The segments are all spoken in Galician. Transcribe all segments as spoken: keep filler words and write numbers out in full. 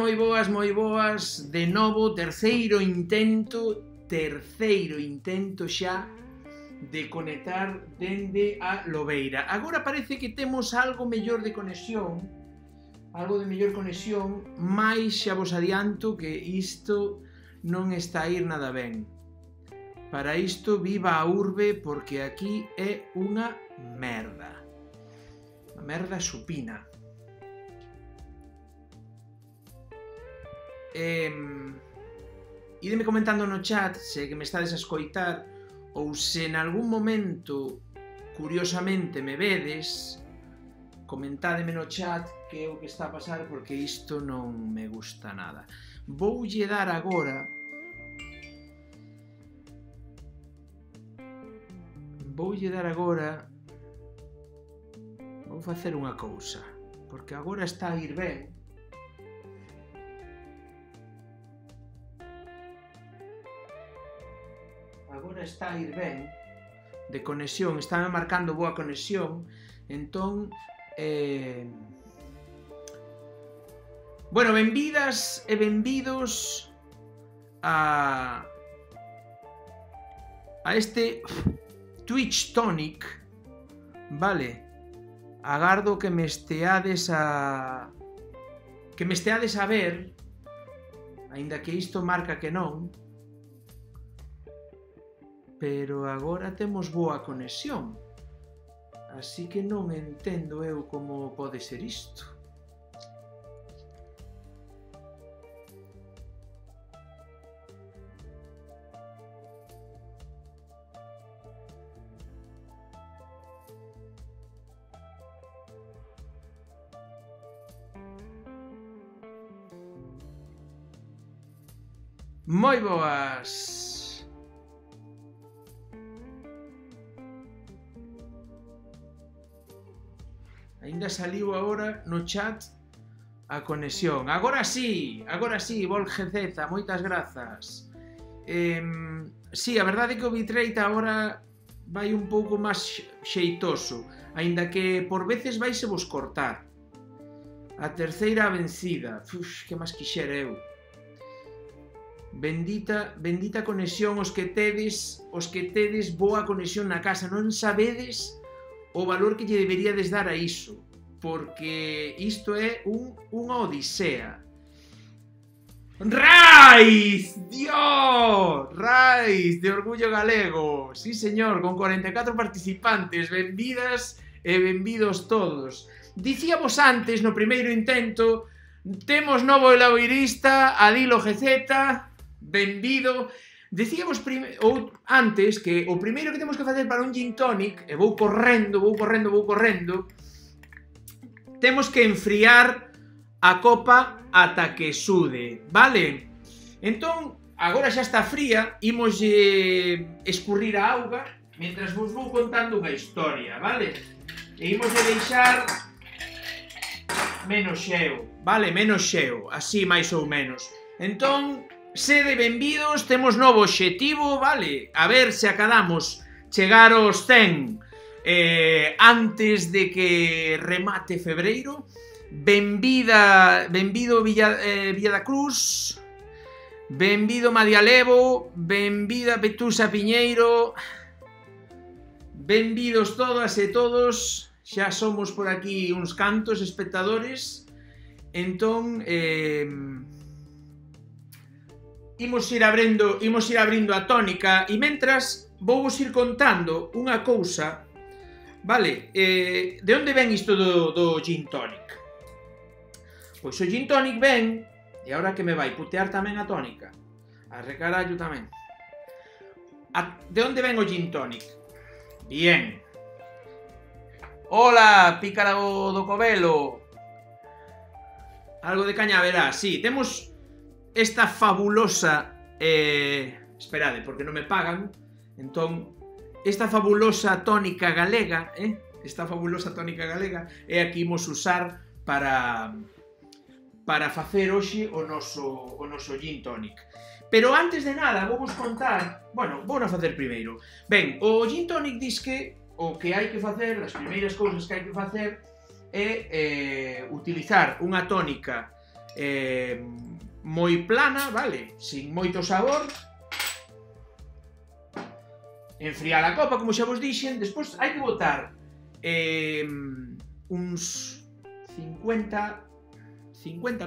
moi boas, moi boas. De novo, terceiro intento, terceiro intento xa de conectar dende a Lobeira. Agora parece que temos algo mellor de conexión, algo de mellor conexión, mais xa vos adianto que isto non está a ir nada ben. Para isto, viva a urbe, porque aquí é unha merda. Unha merda supina. Eh, ideme comentando no chat se que me estades a escoitar ou se en algún momento curiosamente me vedes, comentádeme no chat que é o que está a pasar, porque isto non me gusta nada. Voulle dar agora voulle dar agora vou facer unha cousa, porque agora está a ir ben. Agora está a ir ben de conexión, está marcando boa conexión, entón eh... bueno, benvidas e benvidos a a este Twitch Tonic, vale? Agardo que me esteades a que me esteades a ver, aínda que isto marca que non. Pero agora temos boa conexión, así que non entendo eu como pode ser isto. Moi boas! Ainda saliu agora no chat a conexión. Agora sí, agora sí, Volgezeta, moitas grazas. Eh, sí, a verdade é que o bitrate agora vai un pouco máis xeitoso, aínda que por veces vaise vos cortar. A terceira vencida. Uf, que máis quixera eu. Bendita, bendita conexión os que tedes, os que tedes boa conexión na casa. Non sabedes o valor que lle deberíades dar a iso, porque isto é un, unha odisea. Raiz! Dios! Raiz de Orgullo Galego. Sí, señor, con corenta e catro participantes. Benvidas e benvidos todos. Dicíamos antes, no primeiro intento, temos novo elaboirista, Adilo G Z. Benvido. Dicíamos ou antes que o primeiro que temos que facer para un gin tonic, e vou correndo, vou correndo, vou correndo, temos que enfriar a copa ata que sude, vale? Entón, agora xa está fría, imos eh, escurrir a auga, mentras vos vou contando unha historia, vale? E imos de deixar menos xeo, vale? Menos xeo, así máis ou menos. Entón, sede benvidos, temos novo obxectivo, vale? A ver se acadamos chegar aos cen eh, antes de que remate febreiro. Benvida, benvido Villa, eh, Villa da Cruz, benvido Madialevo, benvida Petusa Piñeiro, benvidos todas e todos, xa somos por aquí uns cantos espectadores, entón... Eh, Imos ir abrindo, imos ir abrindo a tónica e mentras vou vos ir contando unha cousa, vale? Eh, de onde ven isto do, do gin tonic? Pois o gin tonic ven, e agora que me vai putear tamén a tónica, a recarallo tamén. A, de onde ven o gin tonic? Bien. Hola, pícara do Covelo. Algo de caña verá, sí, temos... esta fabulosa eh, esperade, porque non me pagan. Entón, esta fabulosa tónica galega, eh, esta fabulosa tónica galega é a que imos usar para para facer hoxe o noso o noso gin tonic. Pero antes de nada, vou vos contar, bueno, vou non facer primeiro. Ben, o gin tonic dis que o que hai que facer, as primeiras cousas que hai que facer é eh, utilizar unha tónica eh, moi plana, vale, sin moito sabor. Enfriar a copa, como xa vos dixen. Despois hai que botar eh, uns cincuenta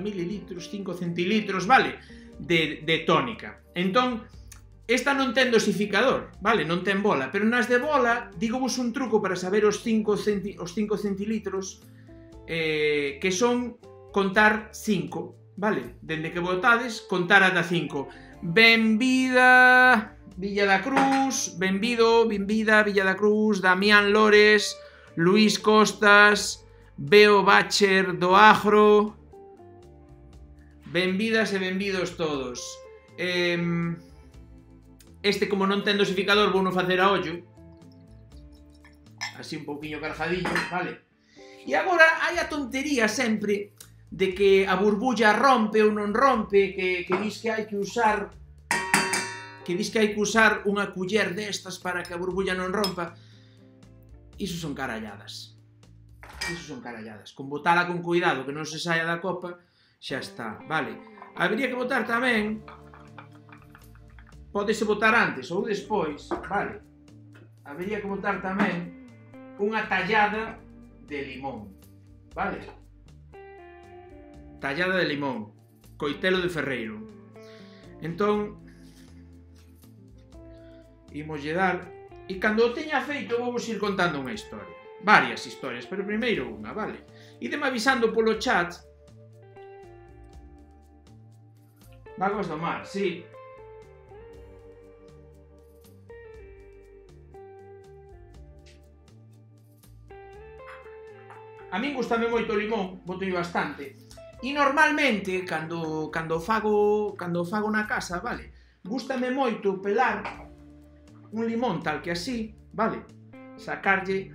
mililitros, cinco centilitros, vale, de, de tónica. Entón, esta non ten dosificador, vale, non ten bola, pero nas de bola, digo vos un truco para saber os cinco centilitros, eh, que son contar cinco, vale, dende que botades, contar ata cinco. Benvida Villa da Cruz, benvido, benvida Villa da Cruz, Damián Lores, Luís Costas, Beo Bacher do Agro, benvidas e benvidos todos. Eh, este, como non ten dosificador, vou non facer a ollo, así un pouquiño cargadillo, vale? E agora hai a tontería sempre de que a burbulla rompe ou non rompe, que, que dis que hai que usar que dis que hai que usar unha culler destas para que a burbulla non rompa. Iso son caralladas. Iso son caralladas. Con botala con cuidado, que non se saia da copa, xa está, vale? Habería que botar tamén, pódese botar antes ou despois, vale? Habería que botar tamén unha tallada de limón, vale? Tallada de limón, coitelo de ferreiro. Entón, imoslle dar, e cando o teña feito vou vos ir contando unha historia, varias historias, pero primeiro unha, vale? Ideme avisando polo chat. Vagas do mar, sí. A min gustame moito o limón, botoi bastante. E normalmente, cando, cando, fago, cando fago na casa, vale, gústame moito pelar un limón tal que así, vale, sacarlle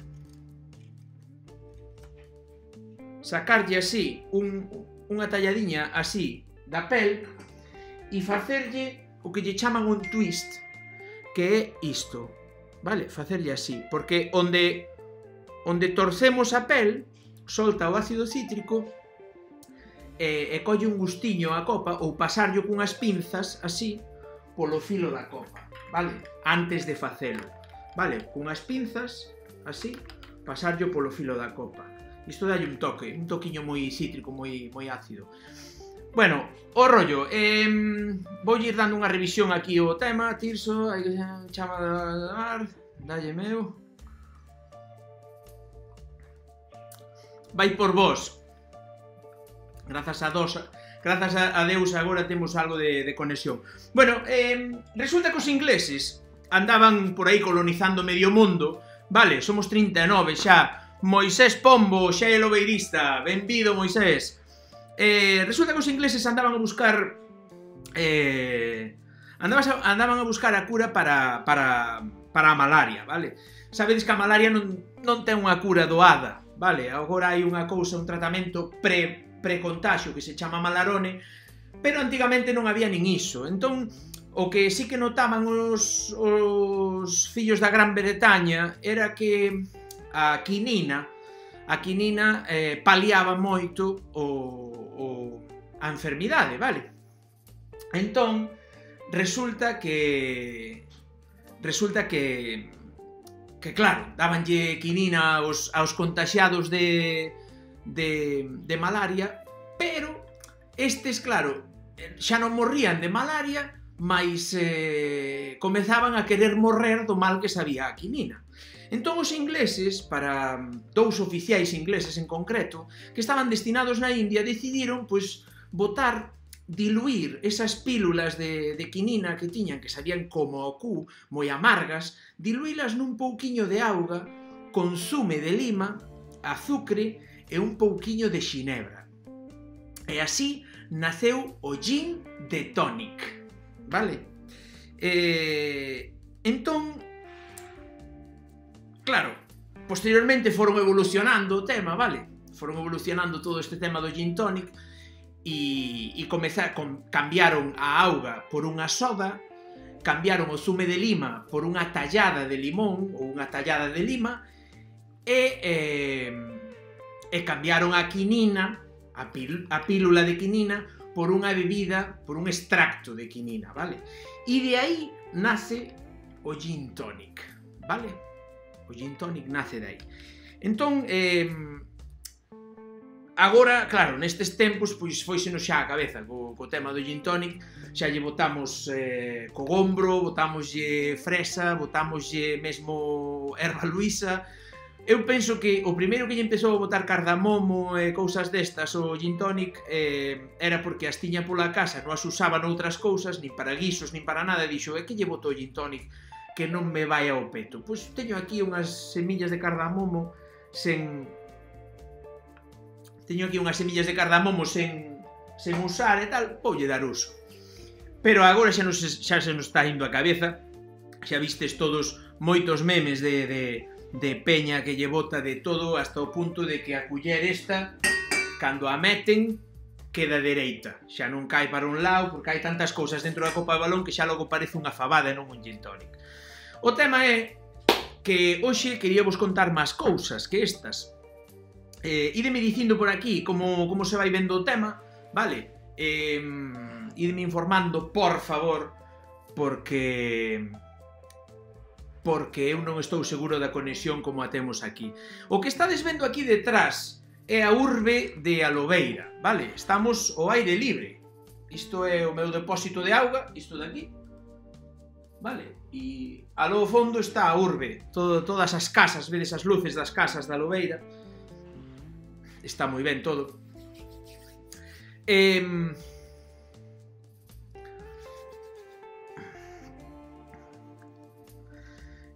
sacarlle así un, unha talladiña así da pel e facerlle o que lle chaman un twist, que é isto, vale, facerlle así, porque onde onde torcemos a pel solta o ácido cítrico e, e colle un gustiño a copa, ou pasarlle cunhas pinzas así polo filo da copa, vale, antes de facelo, vale, cunhas pinzas así, pasarlle polo filo da copa. Isto dalle un toque, un toquiño moi cítrico, moi, moi ácido. Bueno, o rollo, eh, vou ir dando unha revisión aquí o tema. Tirso, hai que chama de mar, dalle meu. Vai por vos. Grazas a dos, grazas a Deus agora temos algo de, de conexión. Bueno, eh, resulta que os ingleses andaban por aí colonizando medio mundo, vale, somos trinta e nove xa. Moisés Pombo, xa é lobeirista, benvido Moisés. Eh, resulta que os ingleses andaban a buscar eh, andaban, a, andaban a buscar a cura para, para, para a malaria, vale? Sabedes que a malaria non, non ten unha cura doada, vale? Agora hai unha cousa, un tratamento pre, pre-contagio que se chama Malarone, pero antigamente non había nin iso. Entón, o que sí que notaban os, os fillos da Gran Bretaña era que a quinina a quinina eh, paliaba moito o, o, a enfermidade, vale? Entón, resulta que resulta que que claro, dabanlle quinina aos, aos contaxiados de, de, de malaria, pero estes, claro, xa non morrían de malaria, mas eh, comezaban a querer morrer do mal que sabía a quinina. Entón os ingleses, para dous oficiais ingleses en concreto, que estaban destinados na India, decidiron, pois, botar, diluir esas pílulas de, de quinina que tiñan, que sabían como o cu, moi amargas, diluílas nun pouquiño de auga, con zume de lima, azucre e un pouquiño de xinebra. E así naceu o gin de tonic, vale? Eh, entón, claro, posteriormente foron evolucionando o tema, vale? Foron evolucionando todo este tema do gin tonic e, e comezar, com, cambiaron a auga por unha soda, cambiaron o zume de lima por unha tallada de limón ou unha tallada de lima e, eh, e cambiaron a quinina, a, pil, a pílula de quinina por unha bebida, por un extracto de quinina, vale? E de aí nace o gin tonic, vale? O gin tonic nace de aí. Entón, eh, agora, claro, nestes tempos, pois foisenos xa a cabeza co, co tema do gin tonic, xa lle botamos eh, cogombro, botamoslle fresa, botamoslle mesmo erva luisa. Eu penso que o primeiro que lle empezou a botar cardamomo e cousas destas o gin tonic eh, era porque as tiña pola casa, non as usaba noutras cousas, nin para guisos, nin para nada, e dixo, é que lle botou gin tonic que non me vai ao peto. Pois teño aquí unhas semillas de cardamomo sen... Teño aquí unhas semillas de cardamomo sen, sen usar e tal, voulle dar uso. Pero agora xa, nos, xa se nos está indo a cabeza, xa vistes todos moitos memes de... de de peña que lle bota de todo hasta o punto de que a culler esta, cando a meten, queda dereita. Xa non cai para un lado, porque hai tantas cousas dentro da copa de balón que xa logo parece unha fabada e non un gin tonic. O tema é que hoxe quería vos contar máis cousas que estas. Eh, ideme dicindo por aquí como, como se vai vendo o tema, vale? Eh, ideme informando, por favor, porque... porque eu non estou seguro da conexión como a temos aquí. O que estades vendo aquí detrás é a urbe de Alobeira, vale? Estamos ao aire libre. Isto é o meu depósito de auga, isto de aquí, vale? E alo fondo está a urbe, todo, todas as casas, vedes as luces das casas de Alobeira. Está moi ben todo. Eh...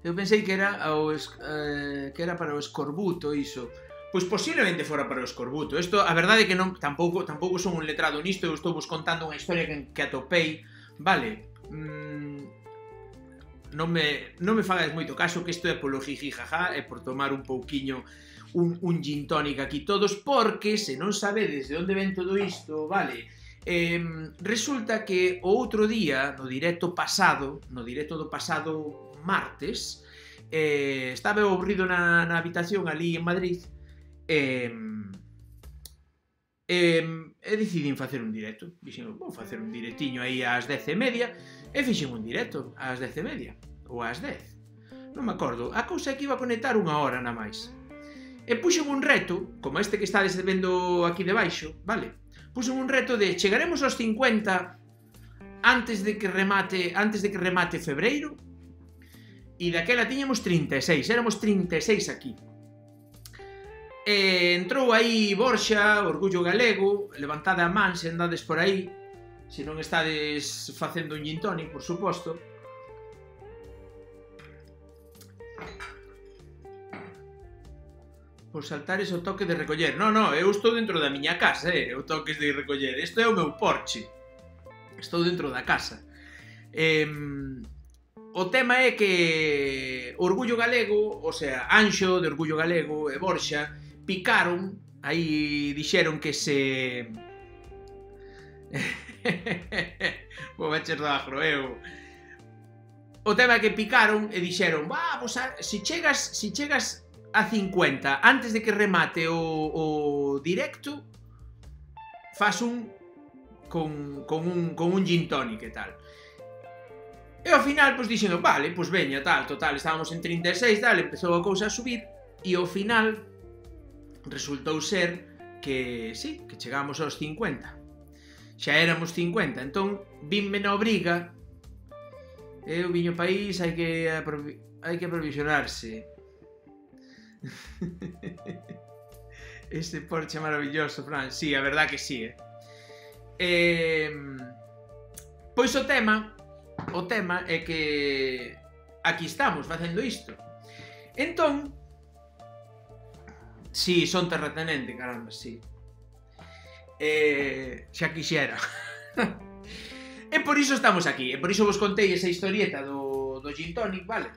Eu pensei que era, o, eh, que era para o escorbuto, iso. Pois posiblemente fora para o escorbuto. Isto, a verdade é que non, tampouco, tampouco son un letrado nisto, eu estou vos contando unha historia que, que atopei, vale? Mm, non me, non me fagades moito caso, que isto é polo jiji jaja, é por tomar un pouquiño un, un gin tonic aquí todos, porque se non sabedes de onde ven todo isto, vale? Eh, resulta que o outro día, no directo pasado, no directo do pasado martes, eh, estaba aburrido na, na habitación ali en Madrid e, eh, e decidín facer un directo. Dixen, vou facer un directiño aí ás dez e media e fixen un directo ás dez e media ou ás dez, non me acordo. A cousa é que iba a conectar unha hora na máis e puxen un reto, como este que estades vendo aquí debaixo, vale? Puxen un reto de chegaremos aos cincuenta antes de que remate antes de que remate febreiro. E daquela tiñamos trinta e seis, éramos trinta e seis aquí. E entrou aí Borxa, Orgullo Galego, levantade a man se andades por aí, se non estades facendo un gin tonic, por suposto. Por saltares o toque de recoller. Non, non, eu estou dentro da miña casa, eh, o toques de recoller. Isto é o meu porche. Estou dentro da casa. Eh... O tema é que Orgullo Galego, o sea, Anxo de Orgullo Galego e Borxa picaron, aí dixeron que se... Vou bacher do agro, eu... O tema é que picaron e dixeron, vamos a... Si chegas, si chegas a cincuenta antes de que remate o, o directo, fas un con, con un con un gin tonic e tal. E ao final, pois dixen, vale, pois veña, tal, total, estábamos en trinta e seis, tal, empezou a cousa a subir, e ao final resultou ser que, sí, que chegamos aos cincuenta. Xa éramos cincuenta, entón, vinme na obriga, e o viño país hai que hai que aprovisionarse. Este Porsche maravilloso, Fran, sí, a verdad que sí, eh. eh pois o tema... O tema é que aquí estamos facendo isto. Entón, si, sí, son terratenente, caramba, si. Sí. Eh, xa quixera. E por iso estamos aquí, e por iso vos contei esa historieta do, do gin tonic, vale?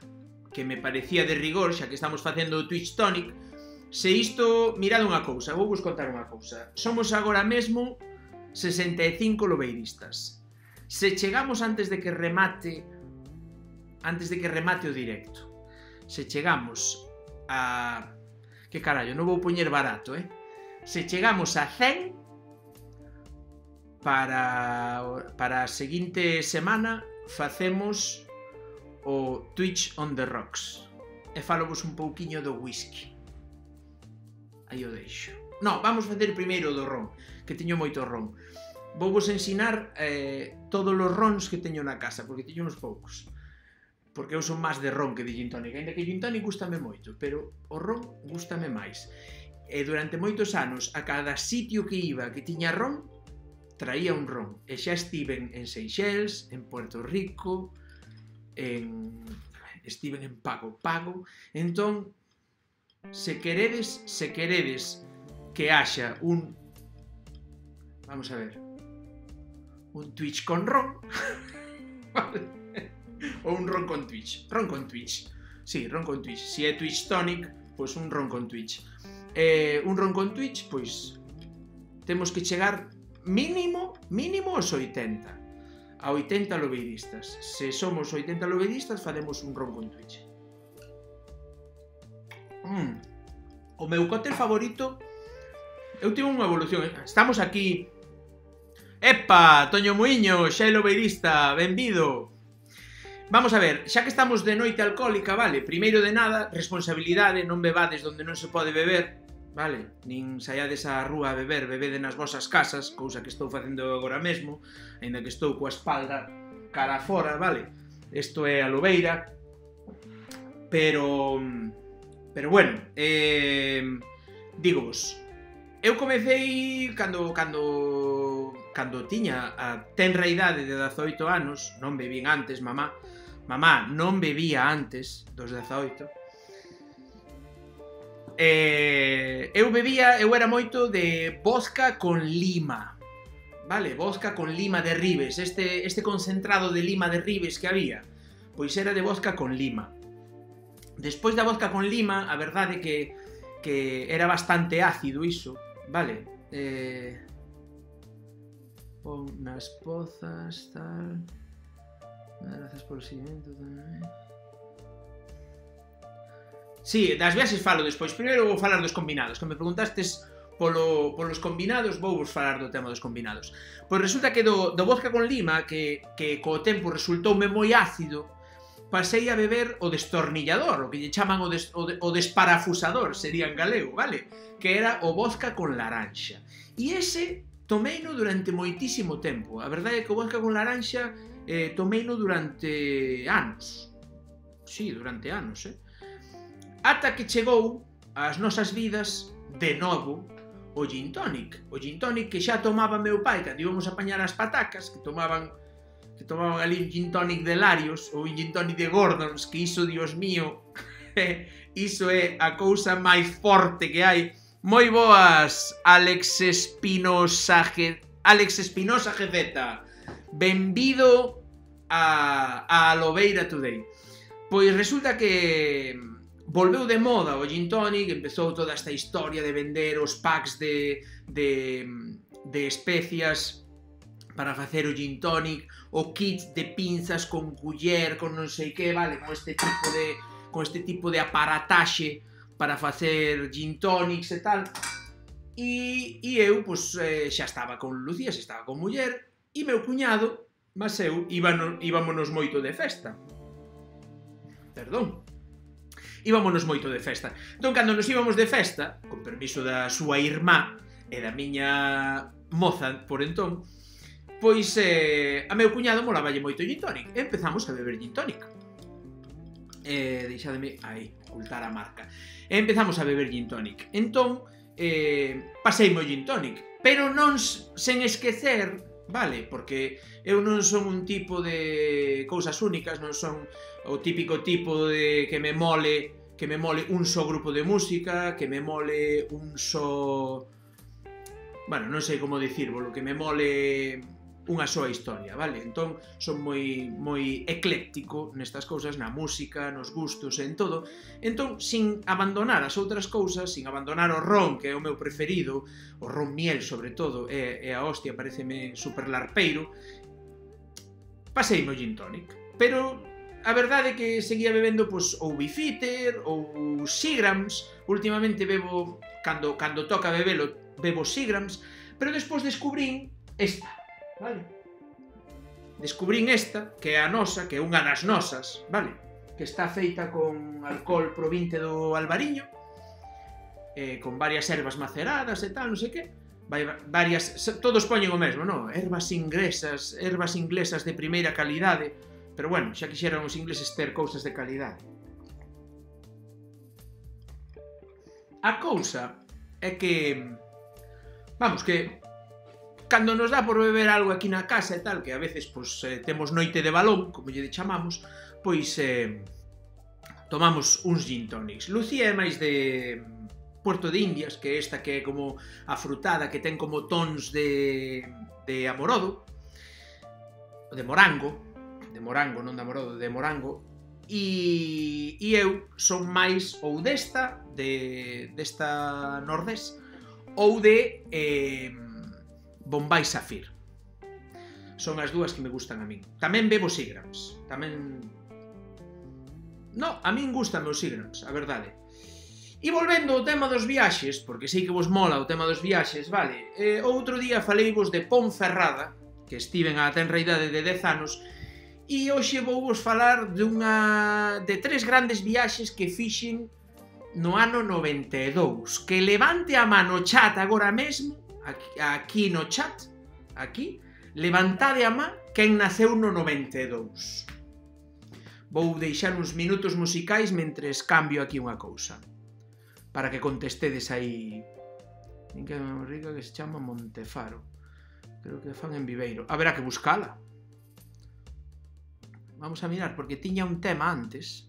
Que me parecía de rigor, xa que estamos facendo o Twitch tonic. Se isto, mirad unha cousa, vou vos contar unha cousa. Somos agora mesmo sesenta e cinco lobeiristas. Se chegamos antes de que remate antes de que remate o directo, se chegamos a... que carallo, non vou poñer barato, eh? Se chegamos a cen, para, para a seguinte semana facemos o Twitch on the Rocks. E falovos un pouquiño do whisky. Aí o deixo. Non, vamos facer primeiro do ron, que teño moito ron. Vou vos ensinar eh, todos os rons que teño na casa, porque teño uns poucos. Porque eu son máis de ron que de gin tonic. Ainda que gin tonic gustame moito, pero o ron gustame máis. E durante moitos anos, a cada sitio que iba que tiña ron, traía un ron. E xa estiven en Seychelles, en Puerto Rico, en... estiven en Pago Pago. Entón, se queredes, se queredes que haxa un... Vamos a ver. Un Twitch con ron. Ou un ron con Twitch. Ron con Twitch. Sí, ron con Twitch. Si é Twitch Tonic, pois un ron con Twitch. Eh, un ron con Twitch, pois temos que chegar mínimo, mínimo aos oitenta. A oitenta lobeiristas. Se somos oitenta lobeiristas, faremos un ron con Twitch. Mm. O meu cóctel favorito... Eu tive unha evolución. Estamos aquí. Epa, Toño Muiño, xa é lobeirista, benvido. Vamos a ver, xa que estamos de noite alcohólica, vale? Primeiro de nada, responsabilidade, non bebades onde non se pode beber, vale? Nin saiades á rúa a beber, bebede nas vosas casas, cousa que estou facendo agora mesmo, aínda que estou coa espalda cara fora, vale? Isto é a lobeira. Pero... Pero bueno, eh... dígovos, eu comecei cando, cando, cando tiña a tenra idade de dezaoito anos, non bebín antes, mamá, mamá non bebía antes dos dezaoito, eh, eu bebía, eu era moito de vodka con lima, vale, vodka con lima de Ribes, este, este concentrado de lima de Ribes que había, pois era de vodka con lima. Despois da vodka con lima, a verdade que, que era bastante ácido iso, vale, eh... pon nas pozas, tal... Gracias por o seguimento tamén. Si, sí, das viaxes falo despois. Primeiro vou falar dos combinados. Que me preguntastes polo, polos combinados, vou vos falar do tema dos combinados. Pois resulta que do, do vodka con lima, que, que co tempo resultoume moi ácido, pasei a beber o destornillador, o que lle chaman o, des, o, de, o desparafusador, sería en galego, vale? Que era o vodka con laranxa. E ese tomeino durante moitísimo tempo. A verdade é que o vodka con laranxa eh, tomeino durante anos. Sí, durante anos, eh? Ata que chegou ás nosas vidas, de novo, o gin tonic. O gin tonic que xa tomaba meu pai cando íbamos a apañar as patacas, que tomaban que tomaban ali un gin tonic de Larios ou un gin tonic de Gordons, que iso, dios mío, iso é a cousa máis forte que hai. Moi boas, Alex Espinosa G... Alex Espinosa G Z. Benvido a, a Lobeira Today. Pois resulta que volveu de moda o gin tonic, empezou toda esta historia de vender os packs de, de, de especias para facer o gin tonic, o kit de pinzas con culler, con non sei que, vale, con este tipo de, con este tipo de aparataxe para facer gin tonics e tal. E, e eu, pois, eh, xa estaba con Lucía, xa estaba con muller, e meu cuñado, mas eu, íbamos, íbamonos moito de festa. Perdón. Íbamonos moito de festa. Entón, cando nos íbamos de festa, con permiso da súa irmá e da miña moza por entón, pois eh, a meu cuñado molaballe moito gin tonic. E empezamos a beber gin tonic. Eh, deixademe aí, ocultar a marca. E empezamos a beber gin tonic. Entón, eh, paseime o gin tonic. Pero non sen esquecer, vale, porque eu non son un tipo de cousas únicas, non son o típico tipo de que me mole, que me mole un só grupo de música, que me mole un só... Bueno, non sei como dicírvolo, que me mole unha soa historia, vale? Entón, son moi moi ecléctico nestas cousas, na música, nos gustos e en todo. Entón, sin abandonar as outras cousas, sin abandonar o ron, que é o meu preferido, o ron miel, sobre todo, e, e a hostia pareceme super larpeiro, paseime o gin tonic. Pero a verdade é que seguía bebendo, pois, ou Bifitter, ou Seagrams. Últimamente bebo, cando, cando toca bebelo, bebo Seagrams, pero despois descubrín esta. vale? Descubrín esta, que é a nosa, que é unha das nosas, vale? Que está feita con alcohol provinte do Albariño, eh, con varias ervas maceradas e tal, non sei que, varias, todos poñen o mesmo, non? Ervas inglesas, ervas inglesas de primeira calidade, pero bueno, xa quixeran os ingleses ter cousas de calidade. A cousa é que, vamos, que cando nos dá por beber algo aquí na casa e tal, que a veces pois, eh, temos noite de balón, como lle chamamos, pois eh, tomamos uns gin tonics. Lucía é máis de Puerto de Indias, que é esta que é como afrutada, que ten como tons de, de amorodo, de morango, de morango, non de amorodo, de morango, e, e eu son máis ou desta, de, desta nordés, ou de eh, Bombay Safir. Son as dúas que me gustan a min. Tamén bebo Seagrams, tamén... No, a min gustan os Seagrams, a verdade. E volvendo ao tema dos viaxes, porque sei que vos mola o tema dos viaxes, vale, eh, outro día faleivos de Ponferrada, que estiven á tenra idade de dez anos, e hoxe vou vos falar dunha de tres grandes viaxes que fixen no ano noventa e dous. Que levante a mano chat agora mesmo, aquí, aquí no chat, aquí, levantade a má quen naceu no noventa e dous. Vou deixar uns minutos musicais mentres cambio aquí unha cousa, para que contestedes aí. Nin que é unha rica que se chama Montefaro. Creo que fan en Viveiro. Haberá que buscala. Vamos a mirar, porque tiña un tema antes.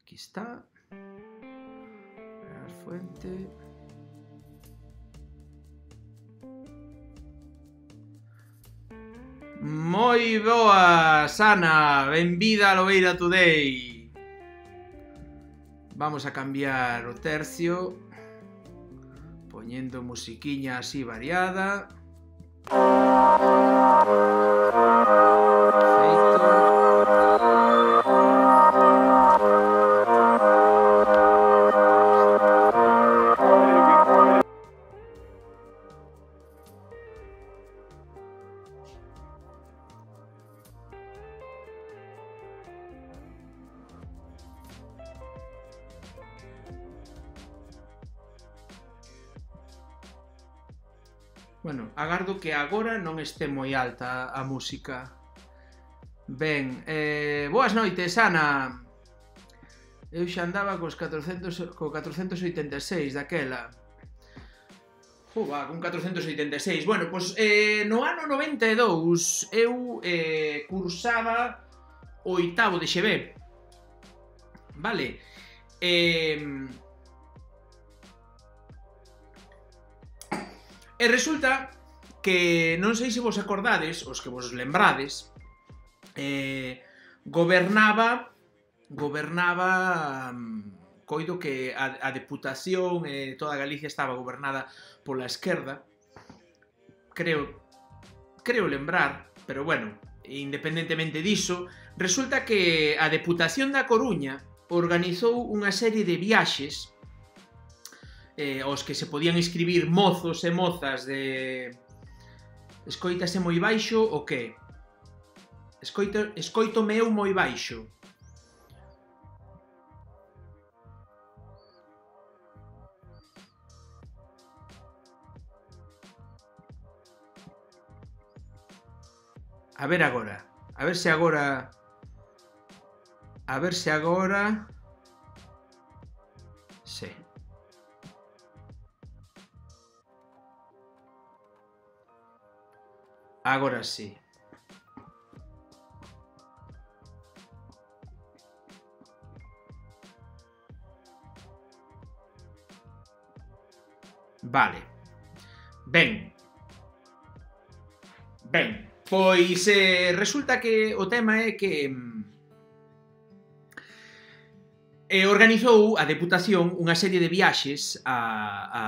Aquí está. A fuente. Moi boas, Ana. Benvida a Lobeira Today. Vamos a cambiar o tercio, poñendo musiquiña así variada. Perfecto. Bueno, agardo que agora non este moi alta a música. Ben, eh, boas noites, Ana. Eu xa andaba cos catrocentos, co catrocentos oitenta e seis daquela. Jova, con catrocentos oitenta e seis. Bueno, pois eh, no ano noventa e dous eu eh, cursaba o oitavo de X B. Vale? Eh... E resulta que, non sei se vos acordades, os que vos lembrades, eh, gobernaba, gobernaba, coido que a, a Deputación, eh, toda Galicia estaba gobernada pola esquerda, creo, creo lembrar, pero bueno, independentemente diso, resulta que a Deputación da Coruña organizou unha serie de viaxes Eh, os que se podían inscribir mozos e mozas de... Escoítase moi baixo o que? Escoito, escoitome eu moi baixo. A ver agora. A ver se agora... A ver se agora... Sí. Agora sí. Vale. Ben. Ben. Pois eh, resulta que o tema é que eh, organizou a Deputación unha serie de viaxes a... a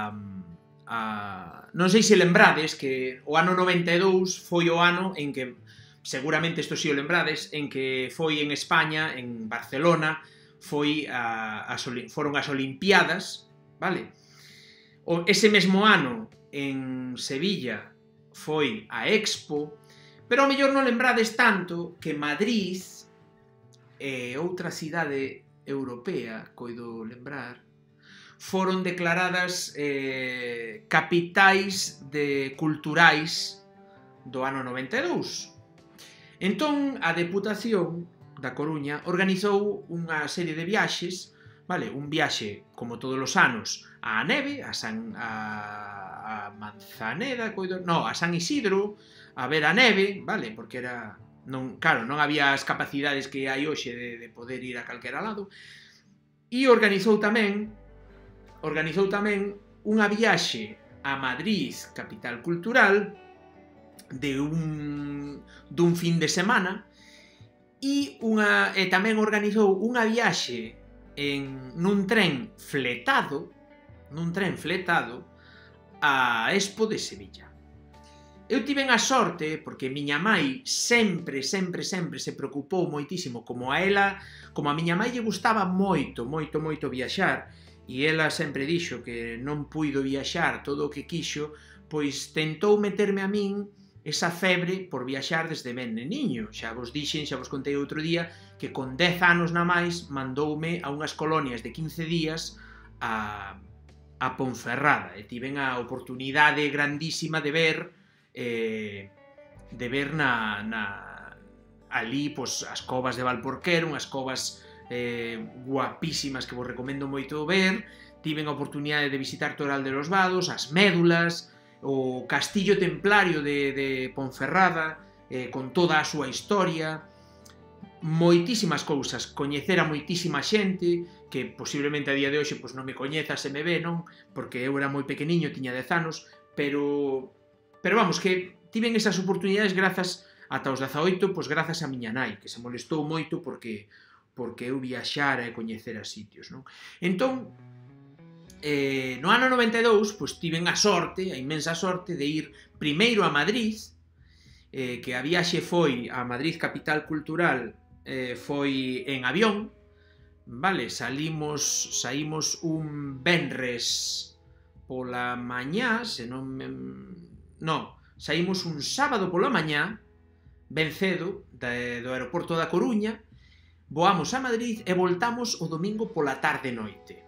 A... non sei se lembrades que o ano noventa e dous foi o ano en que, seguramente isto si o lembrades, en que foi en España, en Barcelona, foi a, as, foron as Olimpiadas, vale? O, ese mesmo ano en Sevilla foi a Expo, pero ao mellor non lembrades tanto que Madrid e outra cidade europea, coido lembrar, foron declaradas eh, capitais de culturais do ano noventa e dous. Entón, a Deputación da Coruña organizou unha serie de viaxes, vale, un viaxe, como todos os anos, á neve, a San a, a Manzaneda, coido, no, a San Isidro, a ver a neve, vale, porque era, non, claro, non había as capacidades que hai hoxe de, de poder ir a calquera lado, e organizou tamén organizou tamén unha viaxe a Madrid, capital cultural, de un, dun fin de semana, e, unha, e tamén organizou unha viaxe en, nun tren fletado, nun tren fletado, a Expo de Sevilla. Eu tiven a sorte, porque miña mai sempre, sempre, sempre se preocupou moitísimo, como a ela, como a miña mai lle gustaba moito, moito, moito viaxar, e ela sempre dixo que non puido viaxar todo o que quixo, pois tentou meterme a min esa febre por viaxar desde ben neniño. Xa vos dixen, xa vos contei outro día, que con dez anos na máis mandoume a unhas colonias de quince días a, a Ponferrada, e tiven a oportunidade grandísima de ver eh, de ver na, na ali pois, as covas de Valporquero, unhas covas eh, guapísimas que vos recomendo moito ver. Tiven a oportunidade de visitar Toral de los Vados, as Médulas, o Castillo Templario de, de Ponferrada, eh, con toda a súa historia, moitísimas cousas, coñecer a moitísima xente, que posiblemente a día de hoxe pois, non me coñeza, se me ve, non? Porque eu era moi pequeniño, tiña dez anos, pero, pero vamos, que tiven esas oportunidades grazas ata os dezaoito, pois grazas a miña nai, que se molestou moito porque porque eu viaxara e coñecera sitios, non? Entón, eh, no ano noventa e dous, pois tiven a sorte, a inmensa sorte, de ir primeiro a Madrid, eh, que a viaxe foi a Madrid capital cultural, eh, foi en avión, vale, salimos, saímos un venres pola mañá, se non me... non, saímos un sábado pola mañá, ben cedo, de, do aeroporto da Coruña, voamos a Madrid e voltamos o domingo pola tarde noite.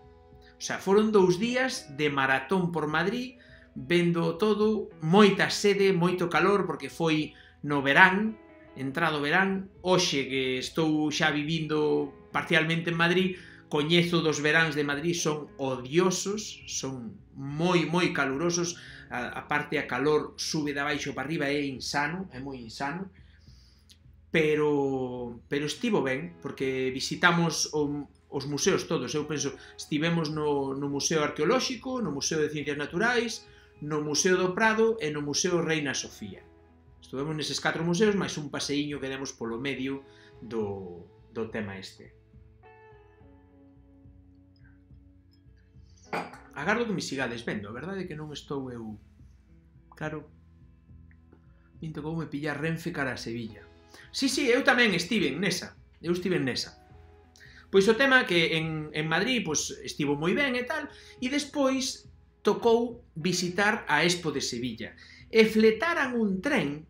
O sea, foron dous días de maratón por Madrid, vendo todo, moita sede, moito calor, porque foi no verán, entrado verán. Hoxe que estou xa vivindo parcialmente en Madrid, coñezo dos veráns de Madrid, son odiosos, son moi, moi calurosos, a, a parte a calor sube de abaixo para arriba, é insano, é moi insano. Pero, pero estivo ben, porque visitamos o, os museos todos. Eu penso, estivemos no, no Museo Arqueolóxico, no Museo de Ciencias Naturais, no Museo do Prado e no Museo Reina Sofía. Estuvemos neses catro museos, máis un paseíño que demos polo medio do, do tema este. Agardo que me sigades vendo, a verdade é que non estou eu... Claro, me tocou me pillar Renfe cara a Sevilla. Sí, sí, eu tamén estiven nesa, eu estiven nesa. Pois o tema que en, en Madrid pois, estivo moi ben e tal, e despois tocou visitar a Expo de Sevilla. E fletaran un tren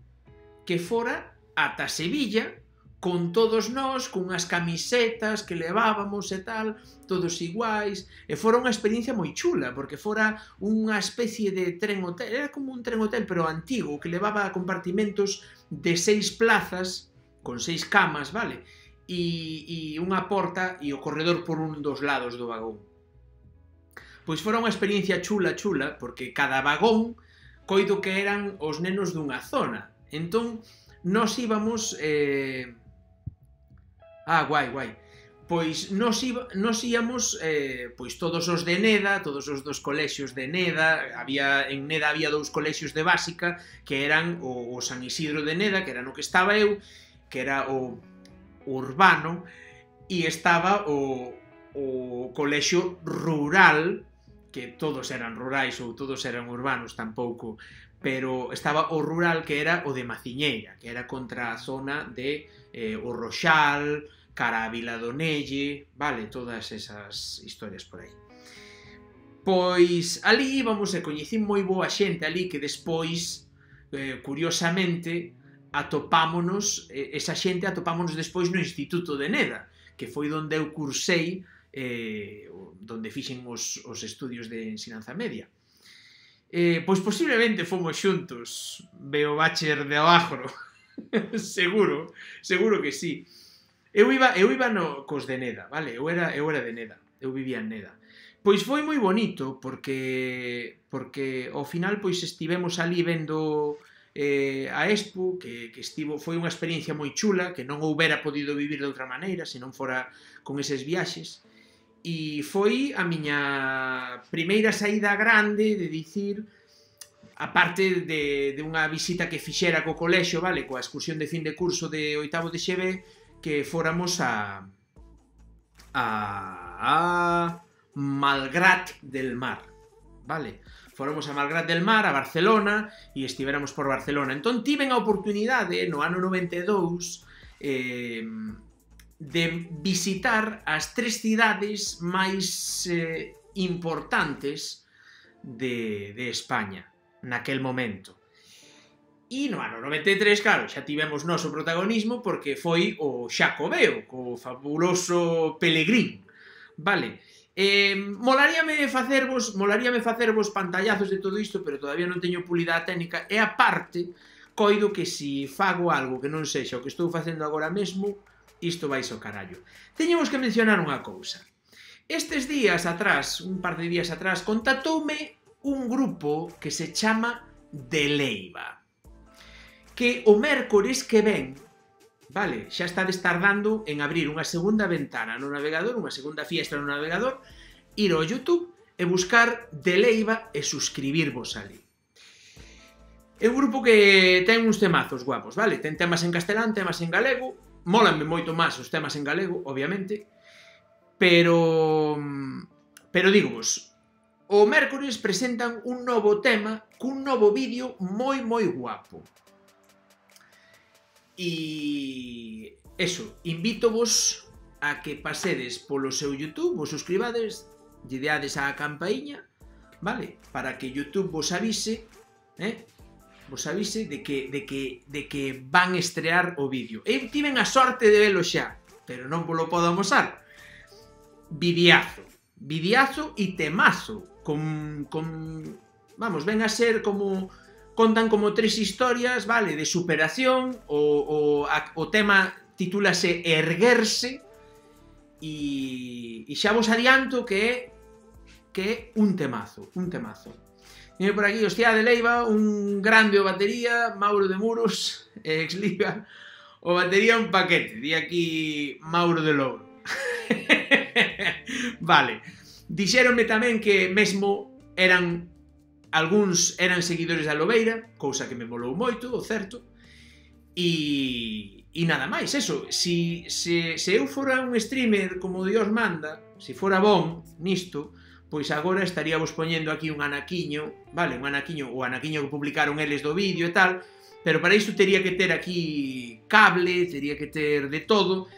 que fora ata Sevilla, con todos nós, con unhas camisetas que levábamos e tal, todos iguais, e fora unha experiencia moi chula, porque fora unha especie de tren hotel, era como un tren hotel, pero antigo, que levaba compartimentos de seis plazas, con seis camas, vale? E, e unha porta e o corredor por un dos lados do vagón. Pois fora unha experiencia chula, chula, porque cada vagón coido que eran os nenos dunha zona. Entón, nós íbamos... Eh... Ah, guai, guai. Pois nos, iba, nos íamos eh, pois todos os de Neda, todos os dos colexios de Neda, había, en Neda había dous colexios de básica, que eran o, o San Isidro de Neda, que era no que estaba eu, que era o urbano, e estaba o, o colexio rural, que todos eran rurais ou todos eran urbanos tampouco, pero estaba o rural que era o de Maciñeira, que era contra a zona de eh, o Roxal, cara a Viladonelle, vale, todas esas historias por aí. Pois ali íbamos e coñecín moi boa xente ali que despois, eh, curiosamente, atopámonos, eh, esa xente atopámonos despois no Instituto de Neda, que foi onde eu cursei, eh, onde fixen os, os estudios de ensinanza media. Eh, pois posiblemente fomos xuntos, veo bacher de abajo, seguro, seguro que sí. Eu iba, eu iba no, cos de Neda, vale? Eu era, eu era de Neda, eu vivía en Neda. Pois foi moi bonito, porque porque ao final pois estivemos ali vendo eh, a Expo, que, que estivo, foi unha experiencia moi chula, que non houbera podido vivir de outra maneira, se non fora con eses viaxes, e foi a miña primeira saída grande de dicir, aparte de, de unha visita que fixera co colexo, vale, coa excursión de fin de curso de oitavo de X B, que fóramos a a, a Malgrat del Mar, vale? Fóramos a Malgrat del Mar, a Barcelona, e estivéramos por Barcelona. Entón tiven a oportunidade, no ano noventa e dous, eh, de visitar as tres cidades máis eh, importantes de, de España, naquel momento. E no ano noventa e tres, claro, xa tivemos noso protagonismo porque foi o Xacobeo, co fabuloso Pelegrín, vale? Eh, molaríame facervos, molaríame facervos pantallazos de todo isto, pero todavía non teño pulida a técnica, e aparte, coido que si fago algo que non sexa o que estou facendo agora mesmo, isto vai ao carallo. Teñemos que mencionar unha cousa. Estes días atrás, un par de días atrás, contactoume un grupo que se chama De Leiva, que o mércores que ven, vale, xa estades tardando en abrir unha segunda ventana no navegador, unha segunda fiestra no navegador, ir ao YouTube e buscar De Leiva e suscribirvos ali. É un grupo que ten uns temazos guapos, vale? Ten temas en castelán, temas en galego, mólanme moito máis os temas en galego, obviamente, pero... pero digos, o mércores presentan un novo tema cun novo vídeo moi moi guapo. E... eso, invítovos a que pasedes polo seu YouTube, vos suscribades, lle deades á campaíña, vale? Para que YouTube vos avise, eh? Vos avise de que, de que, de que van estrear o vídeo. Eu tiven a sorte de velo xa, pero non vos lo podo amosar. Vidiazo, vidiazo e temazo, con, con... vamos, ven a ser como... contan como tres historias, vale, de superación, o, o, a, o tema titúlase Erguerse, e, e xa vos adianto que é que é un temazo, un temazo. Viene por aquí, hostia, De Leiva, un grande o batería, Mauro de Muros, ex-liga, o batería un paquete, di aquí Mauro de Louro. Vale, dixéronme tamén que mesmo eran... algúns eran seguidores da Lobeira, cousa que me molou moito, o certo, e, e nada máis, eso, si, se, se eu fora un streamer como Dios manda, se fora bon nisto, pois agora estaría vos poñendo aquí un anaquiño, vale, un anaquiño, o anaquiño que publicaron eles do vídeo e tal, pero para iso tería que ter aquí cable, tería que ter de todo,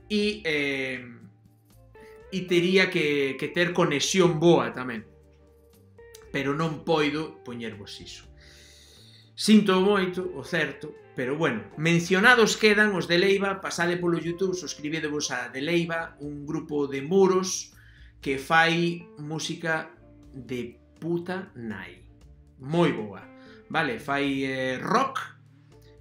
e, eh, e tería que, que ter conexión boa tamén. Pero non poido poñervos iso. Sinto moito, o certo, pero bueno, mencionados quedan os De Leiva, pasade polo YouTube, suscribidevos a De Leiva, un grupo de muros que fai música de puta nai. Moi boa, vale, fai eh, rock,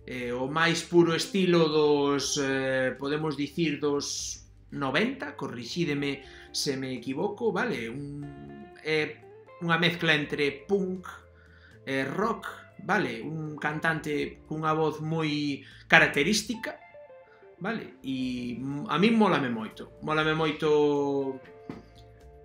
eh, o máis puro estilo dos, eh, podemos dicir, dos noventa, corrixídeme se me equivoco, vale, un... Eh, unha mezcla entre punk e rock, vale? Un cantante cunha voz moi característica, vale? E a min mólame moito. Mólame moito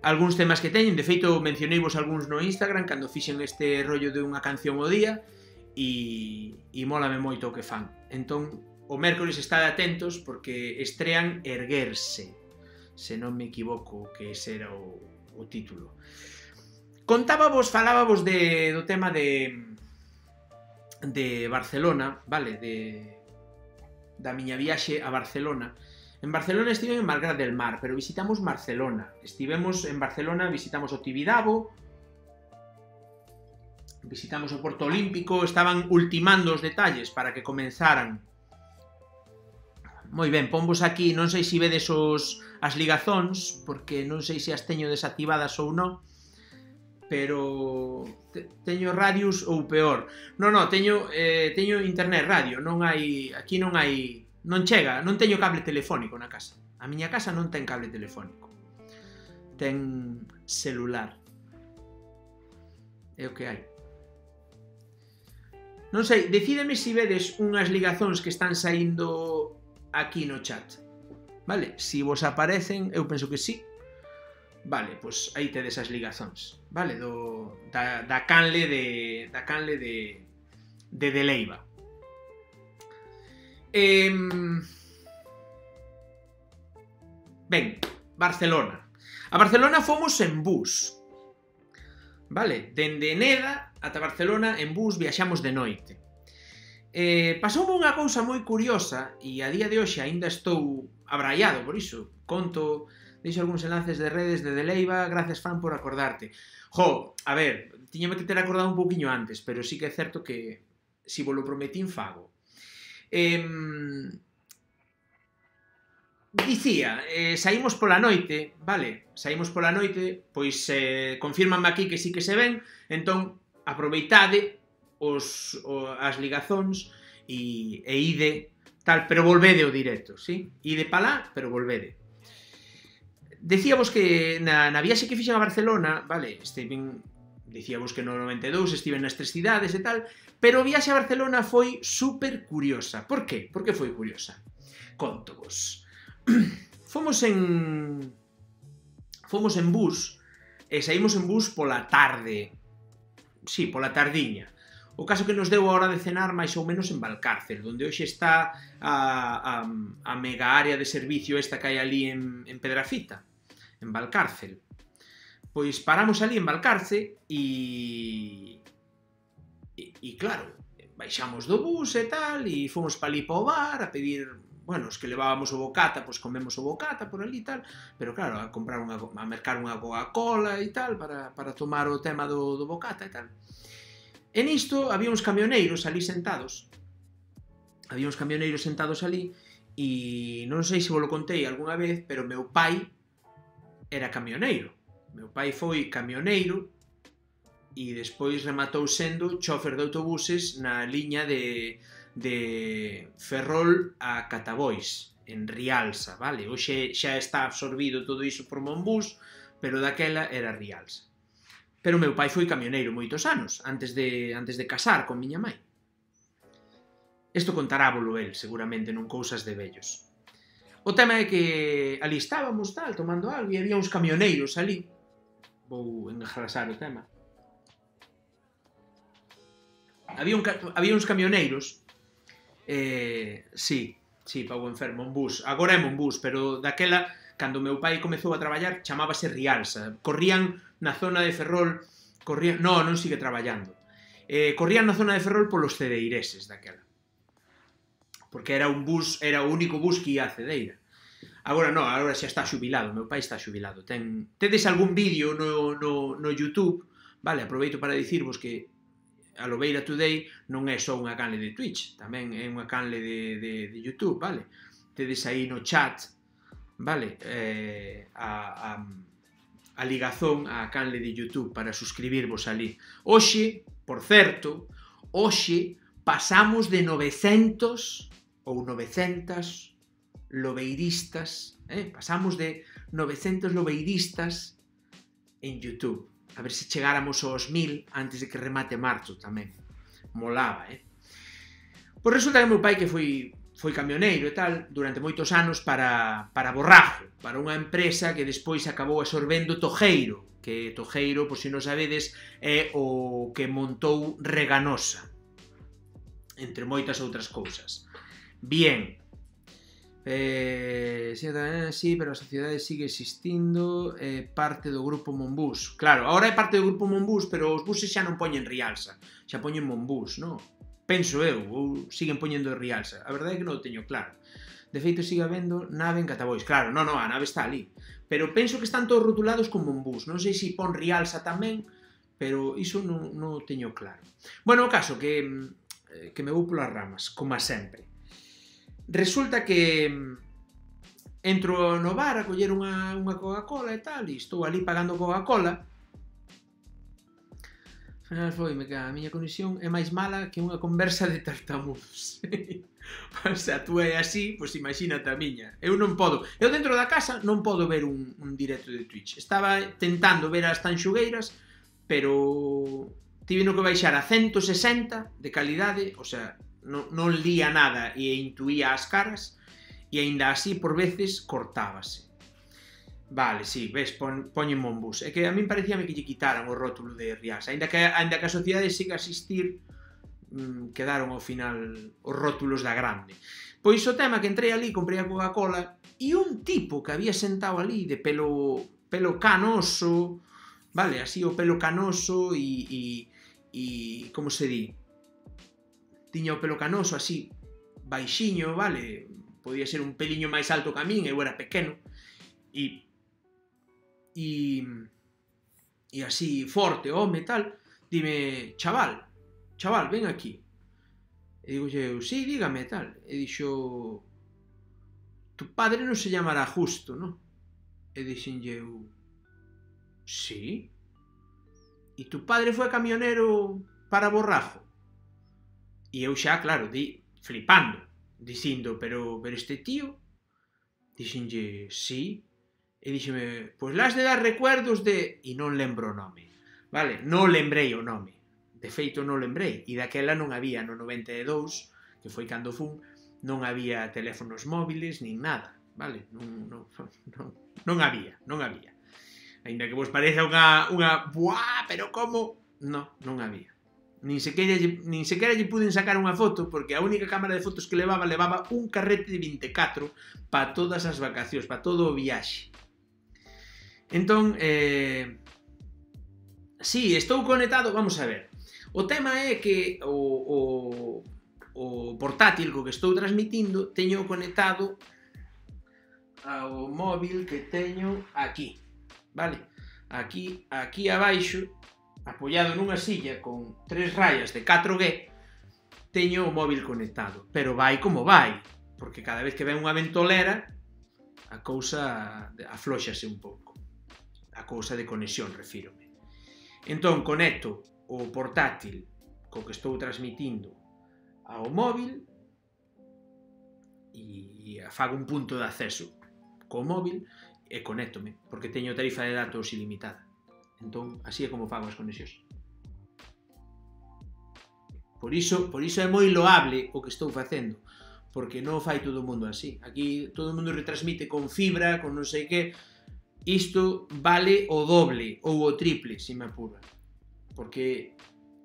algúns temas que teñen. De feito, mencioneivos algúns no Instagram cando fixen este rollo de unha canción ao día e, e mólame moito o que fan. Entón, o mércores estade atentos porque estrean Erguerse, se non me equivoco que ese era o, o título. Contábavos, falábavos de, do tema de de Barcelona, vale, de da miña viaxe a Barcelona. En Barcelona estive en Malgrat del Mar, pero visitamos Barcelona. Estivemos en Barcelona, visitamos o Tibidabo, visitamos o Porto Olímpico, estaban ultimando os detalles para que comenzaran. Moi ben, ponvos aquí, non sei se vedes os, as ligazóns, porque non sei se as teño desactivadas ou non, pero te, teño Radius ou peor. Non, non, teño, eh, teño internet radio, non hai, aquí non hai, non chega, non teño cable telefónico na casa. A miña casa non ten cable telefónico, ten celular. É o que hai. Non sei, decídeme se vedes unhas ligazóns que están saindo aquí no chat. Vale? Si vos aparecen, eu penso que sí. Vale, pois aí tedes as ligazóns. Vale? Do, da, da canle de da canle de de de Leiva. Eh, ben, Barcelona. A Barcelona fomos en bus. Vale? Dende Neda ata Barcelona en bus viaxamos de noite. Eh, pasoume unha cousa moi curiosa e a día de hoxe aínda estou abraiado por iso. Conto, deixo algúns enlaces de redes de Deleiva, gracias fan por acordarte. Jo, a ver, tiñame que ter acordado un pouquiño antes, pero sí que é certo que si vos lo prometín fago. Eh, dicía, eh, saímos pola noite, vale, saímos pola noite, pois eh, confírmame aquí que sí que se ven, entón aproveitade os, o, as ligazóns e, e ide tal, pero volvede o directo, sí? Ide pa lá, pero volvede. Decíavos que na, na viaxe que fixen a Barcelona, vale, estiven, dicíavos que no noventa e dous estiven nas tres cidades e tal, pero a viaxe a Barcelona foi super curiosa. Por que? Por que foi curiosa? Contovos. Fomos en... Fomos en bus, e saímos en bus pola tarde. Sí, pola tardiña. O caso que nos deu a hora de cenar máis ou menos en Valcárcel, onde hoxe está a, a, a mega área de servicio esta que hai ali en, en Pedrafita, en Valcárcel. Pois paramos ali en Valcárcel e, e, e claro, baixamos do bus e tal, e fomos pa ali pa o bar a pedir, bueno, os que levábamos o bocata, pois comemos o bocata por ali e tal, pero claro, a comprar unha, a mercar unha Coca-Cola e tal, para, para tomar o tema do, do bocata e tal. E nisto había uns camioneiros ali sentados, había uns camioneiros sentados ali, e non sei se vos lo contei algunha vez, pero meu pai era camioneiro. Meu pai foi camioneiro e despois rematou sendo chofer de autobuses na liña de, de Ferrol a Catabois, en Rialsa, vale? Hoxe xa está absorbido todo iso por Monbús, pero daquela era Rialsa. Pero meu pai foi camioneiro moitos anos, antes de, antes de casar con miña mãe. Isto contarábolo el, seguramente, non cousas de vellos. O tema é que ali estábamos, tal, tomando algo, e había uns camioneiros ali. Vou engrasar o tema. Había, un, había uns camioneiros, eh, sí, sí, pa o enfermo, en bus. Agora é en bus, pero daquela, cando meu pai comezou a traballar, chamábase Rialsa. Corrían na zona de Ferrol, corrían, no, non sigue traballando, eh, corrían na zona de Ferrol polos cedeireses daquela, porque era un bus, era o único bus que ia a Cedeira. Agora non, agora xa está xubilado, meu pai está xubilado. Ten, tedes algún vídeo no, no, no YouTube, vale, aproveito para dicirvos que a Lobeira Today non é só unha canle de Twitch, tamén é unha canle de, de, de YouTube, vale? Tedes aí no chat, vale, eh, a... a a ligazón á canle de YouTube para suscribirvos ali. Hoxe, por certo, hoxe pasamos de novecentos ou novecentas lobeiristas, eh? pasamos de novecentos lobeiristas en YouTube. A ver se chegáramos aos mil antes de que remate marzo tamén. Molaba, eh? Pois resulta que meu pai que foi foi camioneiro e tal, durante moitos anos para, para Borrajo, para unha empresa que despois acabou absorbendo Tojeiro, que Tojeiro, por se non sabedes, é o que montou Reganosa, entre moitas outras cousas. Bien, eh, sí, sí, pero a sociedade sigue existindo, é eh, parte do grupo Monbús. Claro, agora é parte do grupo Monbús, pero os buses xa non poñen Rialsa, xa poñen Monbús, non? Penso eu, ou siguen poñendo Rialsa. A verdade é que non o teño claro. De feito, sigue habendo nave en Catabois. Claro, non, non, a nave está ali. Pero penso que están todos rotulados como un bus. Non sei se pon Rialsa tamén, pero iso non, non o teño claro. Bueno, o caso que, que me vou polas ramas, como sempre. Resulta que entro no bar a coller unha, unha Coca-Cola e tal, e estou ali pagando Coca-Cola. Foime que a miña conexión é máis mala que unha conversa de tartamudos. O sea, tú é así, pois imagínate a miña. Eu non podo, eu dentro da casa non podo ver un, un directo de Twitch. Estaba tentando ver as tanxugueiras, pero tiveno que baixar a ciento sesenta de calidade, o sea, non, non lía nada e intuía as caras, e aínda así por veces cortábase. Vale, sí, ves, pon, poñen un bus. É que a min parecíame que lle quitaran o rótulo de Riasa. Ainda que, ainda que a sociedade siga a existir, mmm, quedaron ao final os rótulos da grande. Pois o tema que entrei ali, comprei a Coca-Cola, e un tipo que había sentado ali de pelo, pelo canoso, vale, así o pelo canoso e, e, e como se di? Tiña o pelo canoso así, baixiño, vale, podía ser un peliño máis alto que a min, eu era pequeno, e e e así forte, home, tal, dime, chaval, chaval, ven aquí. E digo eu, sí, dígame, tal. E dixo, tu padre non se llamará Justo, non? E dixen eu, sí. E tu padre foi camionero para Borrajo? E eu xa, claro, di, flipando, dicindo, pero, pero este tío? Dixenlle, sí. E díxeme, pois las de dar recuerdos de... E non lembro o nome, vale? Non lembrei o nome. De feito, non lembrei. E daquela non había, no noventa e dous, que foi cando fun, non había teléfonos móviles, nin nada, vale? Non, non, non, non había, non había. Ainda que vos pareza unha... unha buah, pero como? Non, non había. Nin sequera, nin sequera lle puden sacar unha foto, porque a única cámara de fotos que levaba, levaba un carrete de vinte e catro para todas as vacacións, para todo o viaxe. Entón, eh, sí, estou conectado, vamos a ver. O tema é que o, o, o portátil co que estou transmitindo teño conectado ao móvil que teño aquí, vale? Aquí, aquí abaixo, apoiado nunha silla con tres rayas de catro G, teño o móvil conectado, pero vai como vai, porque cada vez que ven unha ventolera, a cousa aflóxase un pouco. A cousa de conexión, refírome. Entón, conecto o portátil co que estou transmitindo ao móvil e fago un punto de acceso co móvil e conéctome, porque teño tarifa de datos ilimitada. Entón, así é como fago as conexións. Por iso, por iso é moi loable o que estou facendo, porque non fai todo o mundo así. Aquí todo o mundo retransmite con fibra, con non sei que. Isto vale o doble ou o triple, se me apura. Porque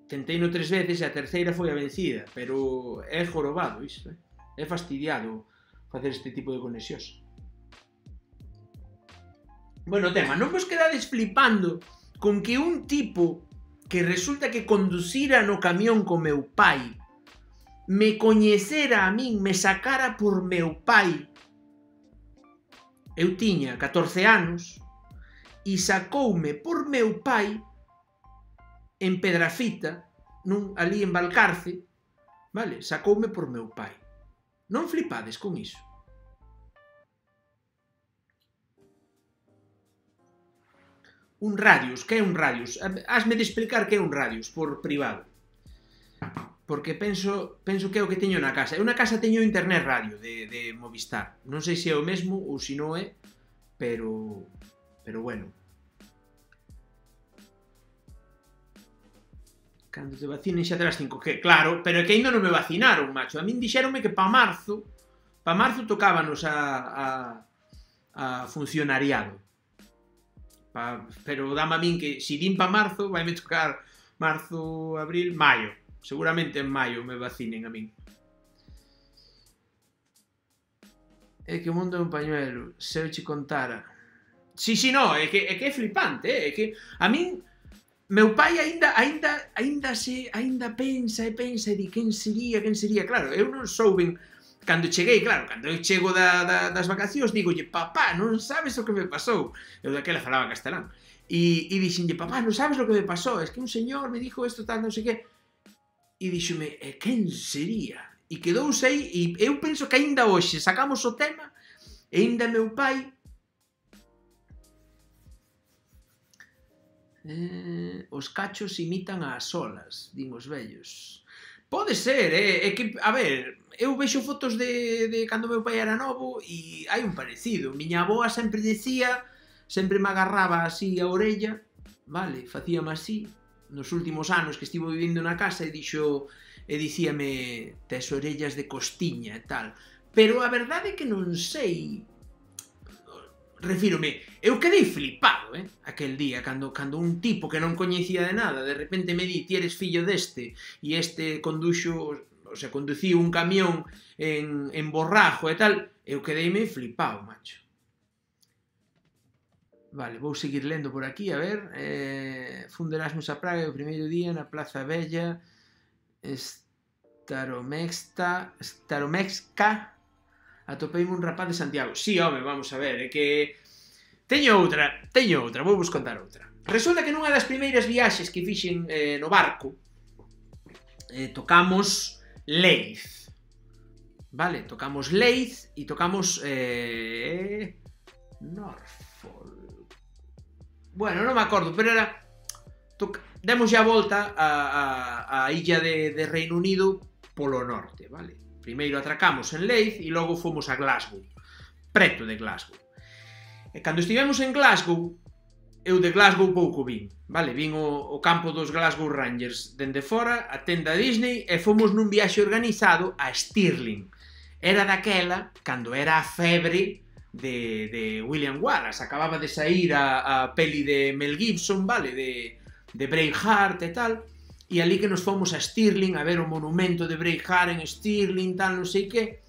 tentei no tres veces e a terceira foi a vencida, pero é jorobado isto, eh? É fastidiado facer este tipo de conexións. Bueno, tema, non vos quedades flipando con que un tipo que resulta que conducira no camión co meu pai me coñecera a min, me sacara por meu pai. Eu tiña catorce anos e sacoume por meu pai en Pedrafita, nun, ali en Valcarce, vale? Sacoume por meu pai. Non flipades con iso. Un radius, que é un radius? Hasme de explicar que é un radius por privado. Porque penso, penso que é o que teño na casa. Eu na casa teño internet radio de, de Movistar. Non sei se é o mesmo ou se non é, pero, pero bueno. Cando te vacinen xa terás cinco G. Claro, pero é que ainda non me vacinaron, macho. A min dixeronme que pa marzo, pa marzo tocábanos a, a, a funcionariado. Pa, pero dame a min que, se din pa marzo, vai me tocar marzo, abril, maio. Seguramente en maio me vacinen a min. É que o mundo é un pañuelo, se eu che contara. Si, si, no, é que é, que é flipante, é que a min, meu pai aínda, aínda, aínda se, aínda pensa e pensa e di quen sería, quen sería. Claro, eu non souben, cando cheguei, claro, cando eu chego da, da, das vacacións, digolle, papá, non sabes o que me pasou. Eu daquela falaba castelán. E, e dixenlle, papá, non sabes lo que me pasó, es que un señor me dijo esto, tal, non sei que. E dixome, e quen sería? E quedouse aí, e eu penso que aínda hoxe sacamos o tema, e aínda meu pai... Eh, os cachos imitan as olas, din os vellos. Pode ser, eh? É que, a ver, eu vexo fotos de, de cando meu pai era novo e hai un parecido. Miña aboa sempre decía, sempre me agarraba así a orella, vale, facíame así, nos últimos anos que estivo vivindo na casa e dixo, e dicíame, tes orellas de costiña e tal. Pero a verdade é que non sei... Refírome, eu quedei flipado, eh, aquel día, cando, cando un tipo que non coñecía de nada, de repente me di, ti eres fillo deste, e este conduxo, o sea, conduciu un camión en, en Borrajo e tal, eu quedeime flipado, macho. Vale, vou seguir lendo por aquí, a ver, eh, funde Erasmus a Praga o primeiro día na Plaza Bella, Staromexta, Staromexca, atopeime un rapaz de Santiago. Sí, home, vamos a ver, é que... Teño outra, teño outra, vou vos contar outra. Resulta que nunha das primeiras viaxes que fixen eh, no barco, eh, tocamos Leith. Vale, tocamos Leith e tocamos... Eh, Norfolk. Bueno, non me acordo, pero era... Demos xa a volta a, a, a illa de, de Reino Unido polo norte, vale? Primeiro atracamos en Leith e logo fomos a Glasgow, preto de Glasgow. E cando estivemos en Glasgow, eu de Glasgow pouco vin, vale? Vin o, o campo dos Glasgow Rangers dende fora, a tenda Disney, e fomos nun viaxe organizado a Stirling. Era daquela, cando era a febre de, de William Wallace, acababa de sair a, a peli de Mel Gibson, vale? De, de Braveheart e tal, e ali que nos fomos a Stirling a ver o monumento de Braveheart en Stirling, tal, non sei que,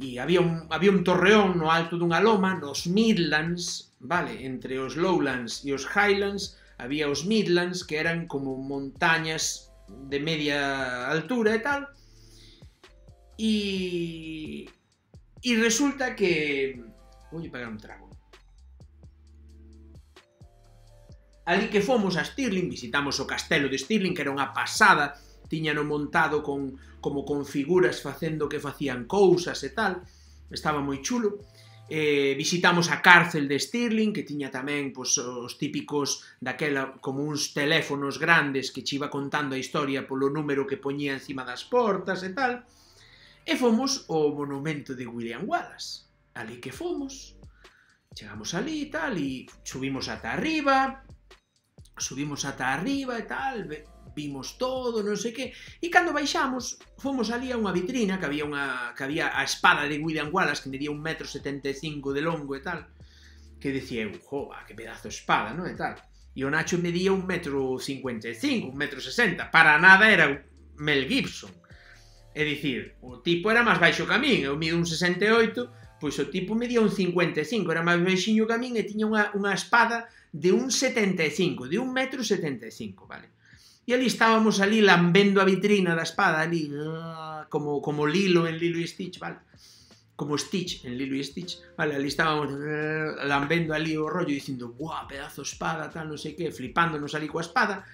e había un, había un torreón no alto dunha loma, nos Midlands, vale, entre os Lowlands e os Highlands, había os Midlands, que eran como montañas de media altura e tal, e, e resulta que... Vou pegar un trago. Ali que fomos a Stirling, visitamos o castelo de Stirling, que era unha pasada, tiñano montado con, como con figuras facendo que facían cousas e tal, estaba moi chulo. Eh, visitamos a cárcel de Stirling, que tiña tamén pois, os típicos daquela, como uns teléfonos grandes que che iba contando a historia polo número que poñía encima das portas e tal. E fomos ao monumento de William Wallace. Ali que fomos, chegamos ali e tal, e subimos ata arriba, subimos ata arriba e tal, vimos todo, non sei que, e cando baixamos, fomos ali a unha vitrina, que había unha que había a espada de William Wallace, que medía un metro setenta e cinco de longo e tal, que decía eu, joa, que pedazo de espada, non? E tal. E o Nacho medía un metro cincuenta e cinco, un metro sesenta, para nada era Mel Gibson. É dicir, o tipo era máis baixo que a min, eu mido un sesenta e oito, pois o tipo medía un cincuenta e cinco, era máis baixinho que a min e tiña unha, unha espada de un setenta e cinco, de un metro setenta e cinco, vale? E ali estábamos ali lambendo a vitrina da espada, ali, como, como Lilo en Lilo e Stitch, vale? Como Stitch en Lilo e Stitch, vale? Ali estábamos lambendo ali o rollo, dicindo, buah, pedazo de espada, tal, non sei que, flipándonos ali coa espada,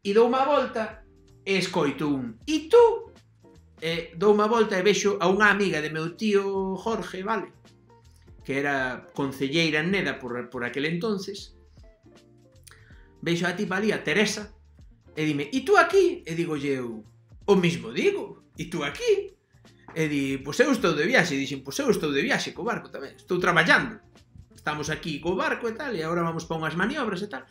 e dou unha volta e escoito un, e tú? E dou unha volta e vexo a unha amiga de meu tío Jorge, vale? Que era concelleira en Neda por, por aquel entonces. Vexo a tipa ali, a Teresa, e dime, e tú aquí? E digo eu, o mismo digo, e tú aquí? E di, pois eu estou de viaxe, e dixen, pois eu estou de viaxe co barco tamén, estou traballando. Estamos aquí co barco e tal, e agora vamos para unhas maniobras e tal.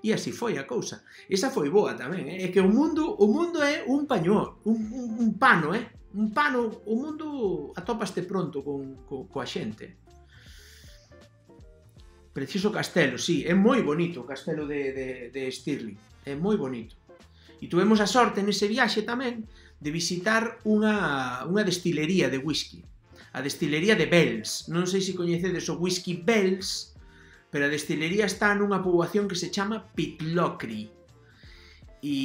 E así foi a cousa. Esa foi boa tamén, eh? É que o mundo, o mundo é un pañol, un, un, un pano, eh? Un pano, o mundo atópaste pronto con, co, coa xente. Preciso castelo, sí, é moi bonito o castelo de, de, de Stirling, é moi bonito. E tuvemos a sorte nese viaxe tamén de visitar unha, unha destilería de whisky, a destilería de Bells. Non sei se coñecedes o whisky Bells, pero a destilería está nunha poboación que se chama Pitlochry. E,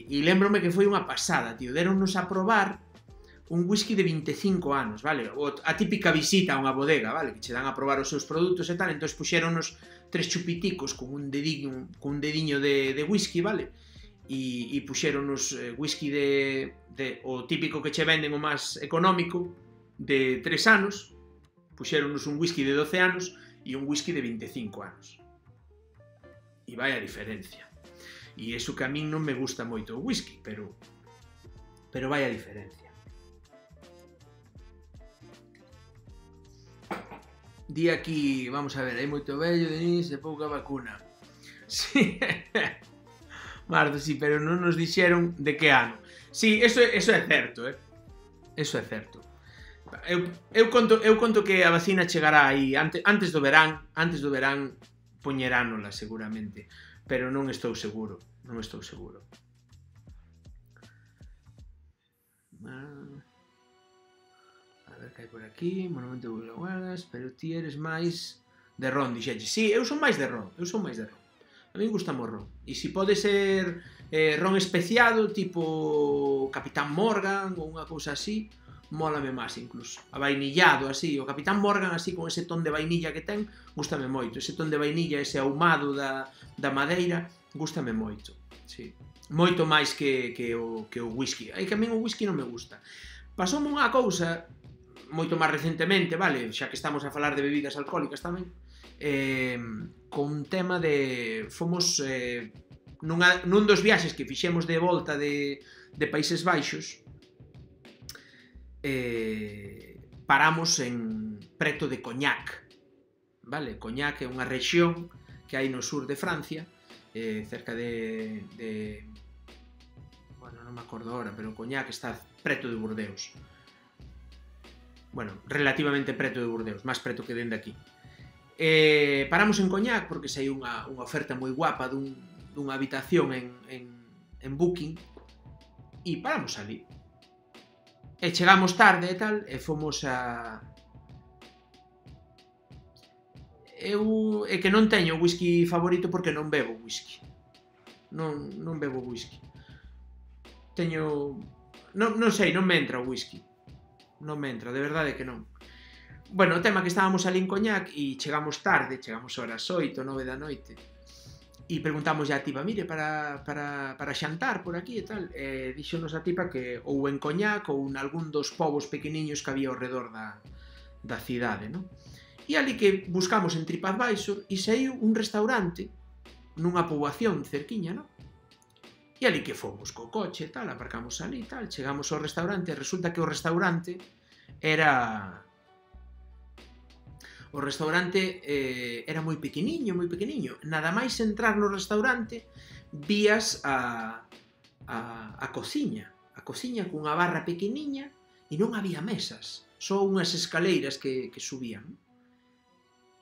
e lembrome que foi unha pasada, tío. Deronnos a probar un whisky de vinte e cinco anos, vale? O, a típica visita a unha bodega, vale? Que che dan a probar os seus produtos e tal, entón puxéronnos tres chupiticos con un dediño, con un dediño de, de whisky, vale? E, e puxeronos eh, whisky de, de o típico que che venden o máis económico de tres anos, puxeronos un whisky de doce anos e un whisky de vinte e cinco anos. E vai a diferencia. E iso que a min non me gusta moito o whisky, pero pero vai a diferencia. Di aquí, vamos a ver, hai moito vello, Denis, e pouca vacuna. Sí, Mardo, sí, pero non nos dixeron de que ano. Sí, eso, eso é certo, eh? Eso é certo. Eu, eu, conto, eu conto que a vacina chegará aí antes, antes do verán, antes do verán poñeránola seguramente, pero non estou seguro, non estou seguro. A ver que hai por aquí, Monumento de Guardas, pero ti eres máis de ron, dixeche. Sí, eu son máis de ron, eu son máis de ron. A mí gusta o ron. E se pode ser eh, ron especiado, tipo Capitán Morgan ou unha cousa así, mólame máis incluso. A vainillado, así, o Capitán Morgan así con ese ton de vainilla que ten, gústame moito. Ese ton de vainilla, ese ahumado da, da madeira, gústame moito. Sí. Moito máis que, que, o, que o whisky. Aí que a min o whisky non me gusta. Pasoume unha cousa moito máis recentemente, vale, xa que estamos a falar de bebidas alcohólicas tamén, eh, con un tema de... Fomos eh, nunha, nun dos viaxes que fixemos de volta de, de Países Baixos, eh, paramos en preto de Cognac, vale? Cognac é unha rexión que hai no sur de Francia, eh, cerca de, de... Bueno, non me acordo ahora, pero Cognac está preto de Burdeos. Bueno, relativamente preto de Burdeos, máis preto que dende aquí. Eh, paramos en Cognac porque sei unha, unha oferta moi guapa dun, dunha habitación en, en, en Booking e paramos ali. E chegamos tarde e tal, e fomos a... Eu é que non teño whisky favorito porque non bebo whisky. Non, non bebo whisky. Teño... Non, non sei, non me entra o whisky. Non me entra, de verdade que non. Bueno, o tema que estábamos ali en Cognac e chegamos tarde, chegamos horas oito, nove da noite, e preguntamos a tipa, mire, para, para, para xantar por aquí e tal, e dixonos a tipa que ou en Cognac ou en algún dos povos pequeniños que había ao redor da, da cidade, non? E ali que buscamos en TripAdvisor e saiu un restaurante nunha poboación cerquiña, non? E ali que fomos co coche e tal, aparcamos ali e tal, chegamos ao restaurante e resulta que o restaurante era... O restaurante eh, era moi pequeniño, moi pequeniño. Nada máis entrar no restaurante, vías a, a, a cociña. A cociña cunha barra pequeniña e non había mesas. Só unhas escaleiras que, que subían.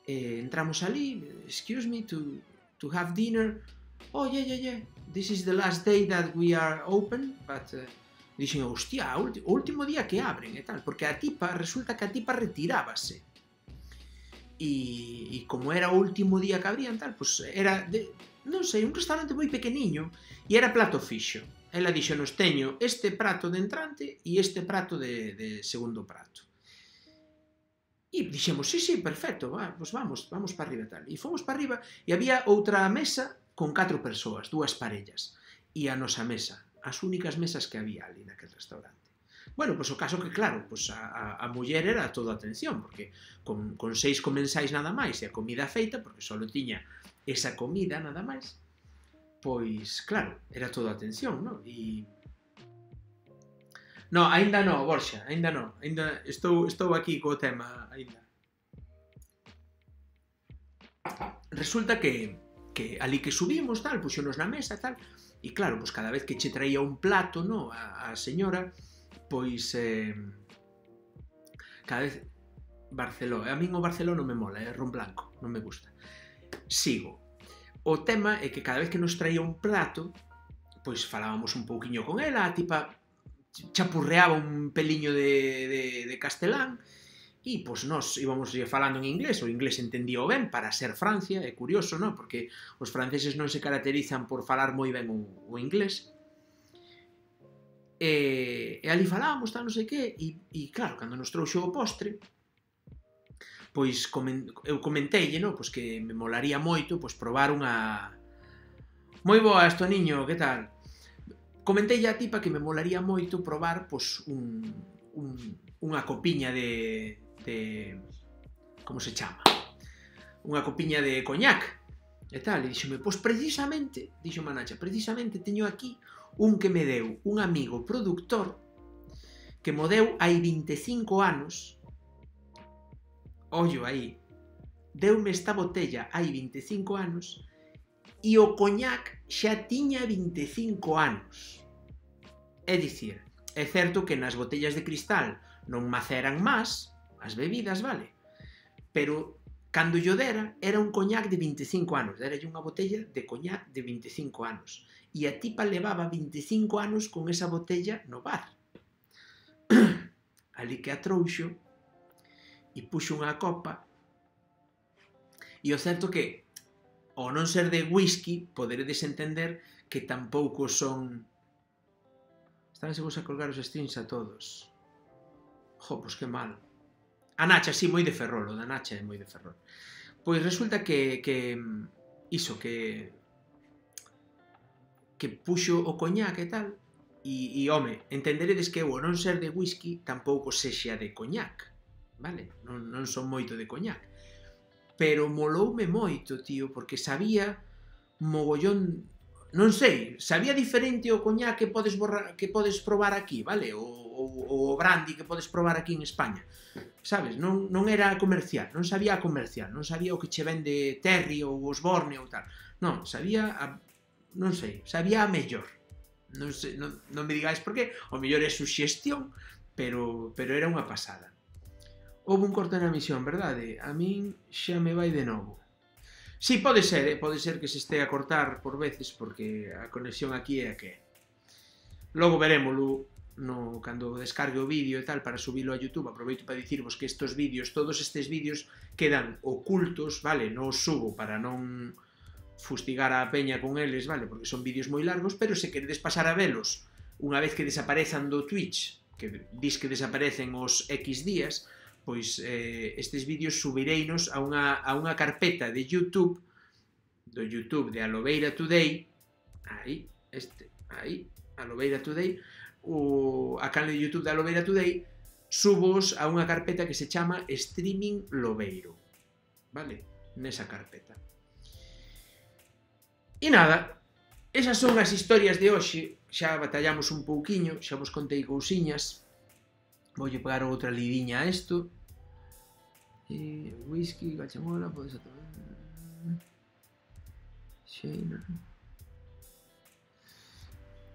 Eh, entramos ali, excuse me, to, to have dinner. Oh, yeah, yeah, yeah. This is the last day that we are open, but... Uh, dixen, hostia, o último día que abren e tal. Porque a tipa, resulta que a tipa retirábase. E, e como era o último día que abrían tal, pues era, de, non sei, un restaurante moi pequeniño e era plato fixo. Ela dixo, nos teño este prato de entrante e este prato de, de segundo prato. E dixemos, sí, sí, perfecto, va, pues vamos, vamos para arriba tal. E fomos para arriba e había outra mesa con catro persoas, dúas parellas. E a nosa mesa, as únicas mesas que había ali naquele restaurante. Bueno, pois o caso que, claro, pois a, a, a muller era toda atención, porque con, con seis comensais nada máis e a comida feita, porque só tiña esa comida nada máis, pois, claro, era toda atención, non? E... No, aínda non, Borxa, aínda non, aínda estou, estou aquí co tema, aínda. Resulta que, que ali que subimos, tal, puxonos na mesa, tal, e claro, pois cada vez que che traía un plato, non, a, a señora... Pois, eh, cada vez, Barceló, a min o Barceló non me mola, é ron blanco, non me gusta. Sigo. O tema é que cada vez que nos traía un plato, pois falábamos un pouquiño con ela, a tipa chapurreaba un peliño de, de, de castelán, e pois nós íbamos falando en inglés, o inglés entendía ben para ser Francia, é curioso, non? Porque os franceses non se caracterizan por falar moi ben o, o inglés. E, e ali falábamos, tal, non sei que, e, e claro, cando nos trouxo o postre, pois eu comenteille, no, pois que me molaría moito pois probar unha... Moi boas, Toniño, que tal? Comenteille a tipa que me molaría moito probar pois un, un, unha copiña de, de... Como se chama? Unha copiña de coñac e tal, e díxome, pois precisamente, dixo Manacha, precisamente teño aquí un que me deu un amigo productor que mo deu hai vinte e cinco anos, ollo aí, deume esta botella hai vinte e cinco anos e o coñac xa tiña vinte e cinco anos. É dicir, é certo que nas botellas de cristal non maceran máis as bebidas, vale? Pero cando yo dera, era un coñac de vinte e cinco anos, deralle unha botella de coñac de vinte e cinco anos. E a tipa levaba vinte e cinco anos con esa botella no bar. Ali que a trouxo e puxo unha copa, e o certo que, ao non ser de whisky, poderedes entender que tampouco son... Estánse vos a colgar os streams a todos. Jo, pois que mal. A Nacha, sí, moi de Ferrol, o da Nacha é moi de Ferrol. Pois resulta que, que iso, que que puxo o coñac e tal, e, e home, entenderedes que eu, ao non ser de whisky, tampouco sexa de coñac, vale? Non, non son moito de coñac. Pero moloume moito, tío, porque sabía mogollón... Non sei, sabía diferente o coñac que podes, borrar, que podes probar aquí, vale? O, o, o brandy que podes probar aquí en España. Sabes? Non, non era comercial, non sabía a comercial, non sabía o que che vende Terry ou Osborne ou tal. Non, sabía a... non sei, sabía a mellor. Non, sei, non, non me digáis por qué, o mellor é suxestión, pero, pero era unha pasada. Houve un corte na misión, verdade? A min xa me vai de novo. Si, sí, pode ser, eh? Pode ser que se este a cortar por veces, porque a conexión aquí é a que é. Logo verémolo no, cando descargue o vídeo e tal para subilo a YouTube. Aproveito para dicirvos que estes vídeos, todos estes vídeos quedan ocultos, vale? Non os subo para non fustigar a peña con eles, vale? Porque son vídeos moi largos, pero se queredes pasar a velos unha vez que desaparezan do Twitch, que dis que desaparecen os X días, pois eh, estes vídeos subireinos a unha, a unha carpeta de YouTube, do YouTube de Alobeira Today, aí, este, aí, Alobeira Today, o, a canal de YouTube de Alobeira Today, subos a unha carpeta que se chama Streaming Lobeiro, vale? Nesa carpeta. E nada, esas son as historias de hoxe, xa batallamos un pouquiño, xa vos contei cousiñas. Voulle pegar outra lidiña a isto. E whisky, gachamola, podes atobar. Xeina.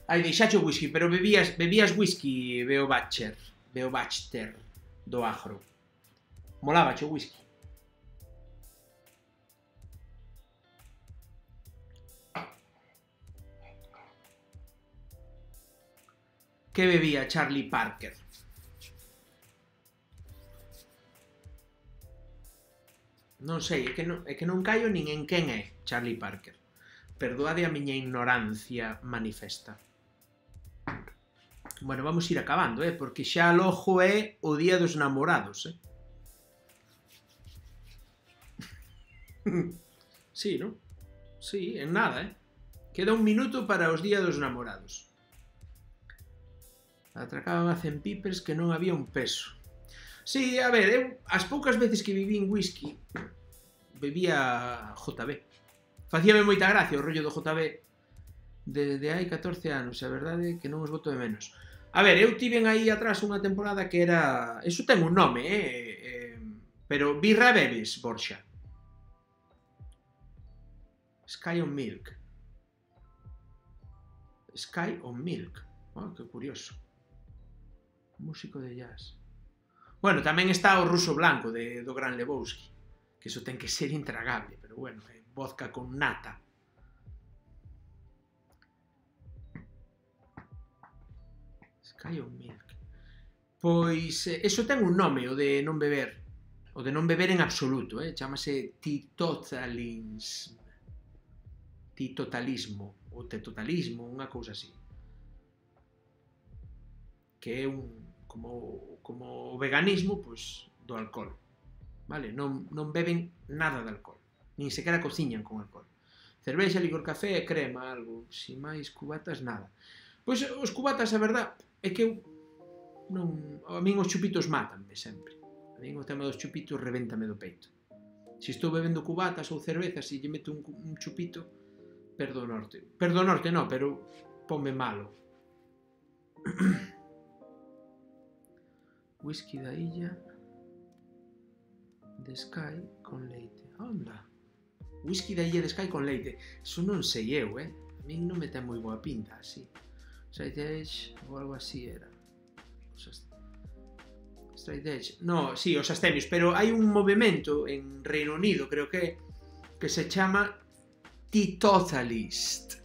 Ai, deixaxe o whisky, pero bebías, bebías whisky, veo Batcher, veo Batcher do Agro. Molaba o whisky. Que bebía Charlie Parker? Non sei, é que non, é que non caio nin en quen é Charlie Parker. Perdoade a miña ignorancia manifesta. Bueno, vamos ir acabando, eh? Porque xa logo é o día dos namorados, eh? Sí, non? Sí, en nada, eh? Queda un minuto para os días dos namorados. Atracaban a cen pipers que non había un peso. Sí, a ver, eu as poucas veces que viví en whisky bebía J B. Facíame moita gracia o rollo do J B desde hai catorce anos, a verdade que non os boto de menos. A ver, eu tiven aí atrás unha temporada que era... Eso ten un nome, eh? eh pero birra bebes, Borxa. Sky on Milk. Sky on Milk. Oh, que curioso. Músico de jazz. Bueno, tamén está o ruso blanco de, do Gran Lebowski, que iso ten que ser intragable, pero bueno, é vodka con nata. Sky on Milk. Pois, eh, eso ten un nome, o de non beber. O de non beber en absoluto, eh? Chámase titotalismo. Titotalismo, ou tetotalismo, unha cousa así. Que é un... como, como o veganismo, pois, do alcohol. vale? Non, non beben nada de alcohol, nin sequera cociñan con alcohol. Cervexa, licor, café, crema, algo, si máis cubatas, nada. Pois os cubatas, a verdad, é que eu non, a min os chupitos mátanme sempre. A min o tema dos chupitos revéntame do peito. Se estou bebendo cubatas ou cervezas e lle meto un, un chupito, perdo o norte. Perdo o norte, non, pero ponme malo. Whisky da illa de Sky con leite. Onda. Whisky da illa de Sky con leite. Eso non sei eu, eh? A min non me ten moi boa pinta, así. Straight Edge ou algo así era. Straight Edge. No, sí, os astemios, pero hai un movimento en Reino Unido, creo que que se chama Teetotalist.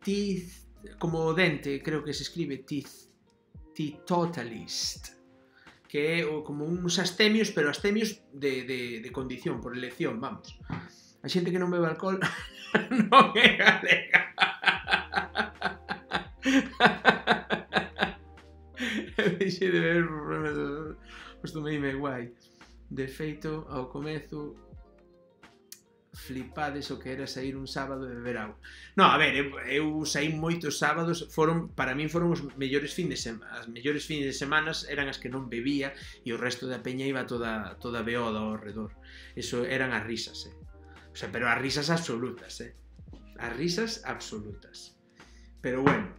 Teeth, como dente, creo que se escribe teeth. Teetotalist. Que é como uns astemios, pero astemios de, de, de condición, por elección, vamos. A xente que non bebe alcohol non é galega. Deixei de beber, costumeime guai. De feito, ao comezo, flipades o que era sair un sábado e beber auga. No, a ver, eu, eu saí moitos sábados, foron, para min foron os mellores fins de semana, as mellores fins de semanas eran as que non bebía e o resto da peña iba toda, toda beoda ao redor. Eso eran as risas, eh. O sea, pero as risas absolutas, eh. As risas absolutas. Pero bueno.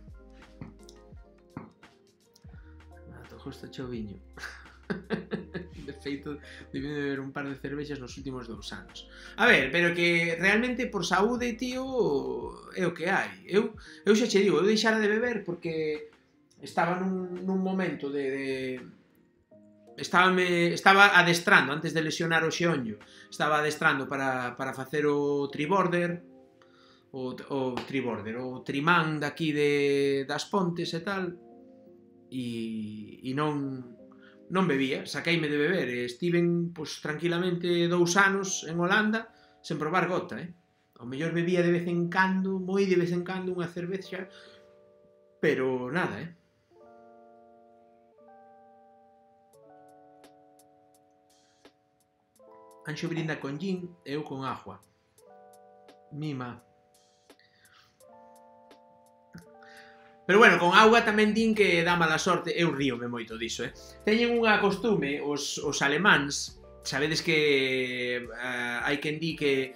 Mato, justo choviño. De feito, debí de beber un par de cervexas nos últimos dous anos. A ver, pero que realmente por saúde, tío, é o que hai. Eu, eu xa che digo, eu deixara de beber porque estaba nun, nun momento de... de... Estaba, me, estaba adestrando, antes de lesionar o xeonllo, estaba adestrando para, para facer o triborder, o, o triborder, o trimán daqui de, das Pontes e tal, e, e non... non bebía, saqueime de beber e estiven, pois, tranquilamente dous anos en Holanda sen probar gota, eh? Ao mellor bebía de vez en cando, moi de vez en cando, unha cervexa, pero nada, eh? Anxo brinda con gin e eu con agua. Mima. Pero bueno, con auga tamén din que dá mala sorte. Eu ríome moito diso, eh? Teñen unha costume, os, os alemáns, sabedes que uh, hai quen di que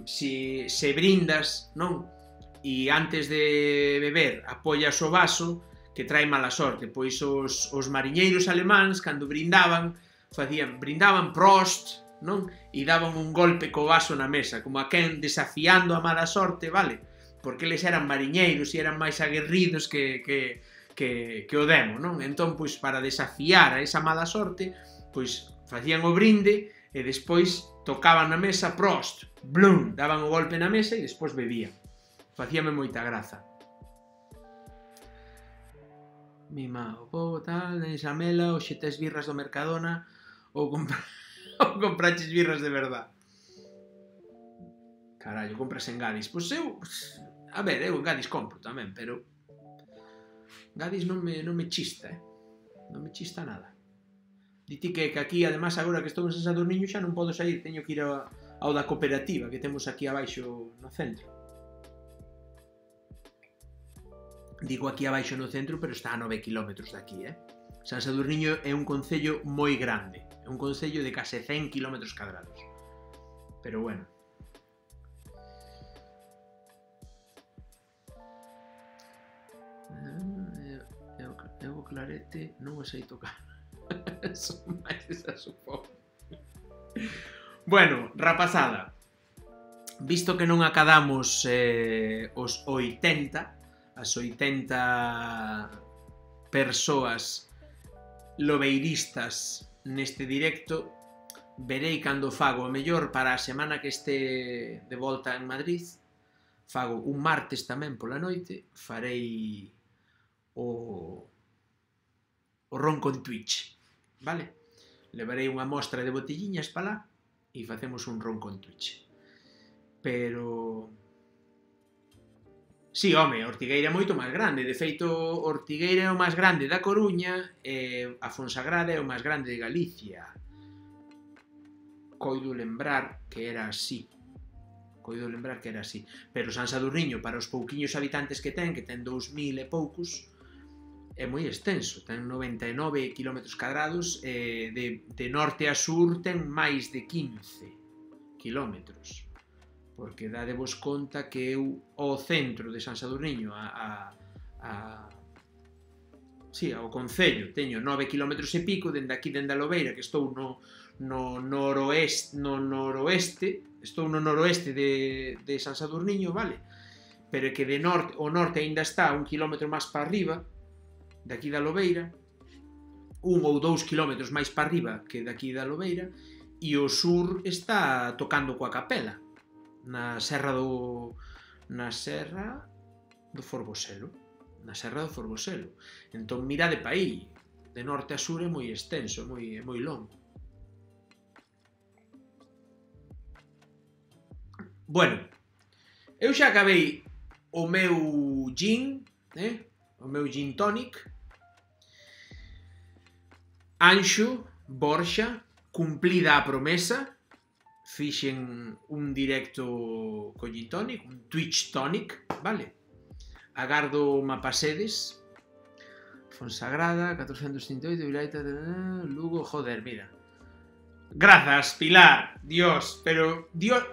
si se brindas, non? E antes de beber apoias o vaso, que trae mala sorte. Pois os, os mariñeiros alemáns, cando brindaban, facían, brindaban Prost, non? E daban un golpe co vaso na mesa, como a quen desafiando a mala sorte, vale? Porque eles eran mariñeiros e eran máis aguerridos que, que, que, que o demo, non? Entón, pois, para desafiar a esa mala sorte, pois, facían o brinde e despois tocaban na mesa, Prost, blum, daban o golpe na mesa e despois bebían. Facíame moita graza. Mima, o povo tal, tenes a mela, ou xe tes birras do Mercadona, ou, compra... ou compraches birras de verdad. Carallo, compras en Gadis. Pois eu... A ver, eu en Gadis compro tamén, pero... Gadis non me, non me chista, eh? Non me chista nada. Diti que, que aquí, además, agora que estou en San Sadurniño, xa non podo sair, teño que ir ao, ao da cooperativa que temos aquí abaixo no centro. Digo aquí abaixo no centro, pero está a nove kilómetros daqui, eh? San Sadurniño é un concello moi grande. É un concello de case cen kilómetros cadrados. Pero bueno. Eu o clarete non o sei tocar. Son máis desasupón. Bueno, rapazada, visto que non acadamos eh, os oitenta, as oitenta persoas lobeiristas neste directo, verei cando fago o mellor para a semana que este de volta en Madrid. Fago un martes tamén pola noite, farei o o ron con Twitch, vale? Levarei unha mostra de botelliñas para lá e facemos un ron con Twitch. Pero... Si, home, Ortigueira é moito máis grande. De feito, Ortigueira é o máis grande da Coruña e a Fonsagrada é o máis grande de Galicia. coido lembrar que era así. Coido lembrar que era así. Pero San Sadurniño, para os pouquiños habitantes que ten, que ten dous mil e poucos, é moi extenso. Ten noventa e nove kilómetros cadrados, e de, de norte a sur ten máis de quince kilómetros. Porque dadevos conta que eu, ao centro de San Sadurniño, a, a, a sí, ao concello, teño nove kilómetros e pico, dende aquí, dende a Lobeira, que estou no, no noroeste, no noroeste, estou no noroeste de, de San Sadurniño, vale? Pero é que de norte, o norte aínda está un kilómetro máis para arriba, de aquí da Lobeira, un ou dous kilómetros máis para arriba que de aquí da Lobeira, e o sur está tocando coa Capela, na serra do... na serra do Forboselo. Na serra do Forboselo. Entón, mirade pa aí. De norte a sur é moi extenso, é moi, é moi longo. Bueno, eu xa acabei o meu gin, eh? o meu gin tonic. Anxo, Borxa, cumplida a promesa. Fixen un directo co gin tonic, un Twitch tonic, vale? Agardo mapasedes. Fonsagrada, catorcentos trinta e oito, Vilaita, Lugo, joder, mira. Grazas, Pilar, Dios, pero Dios...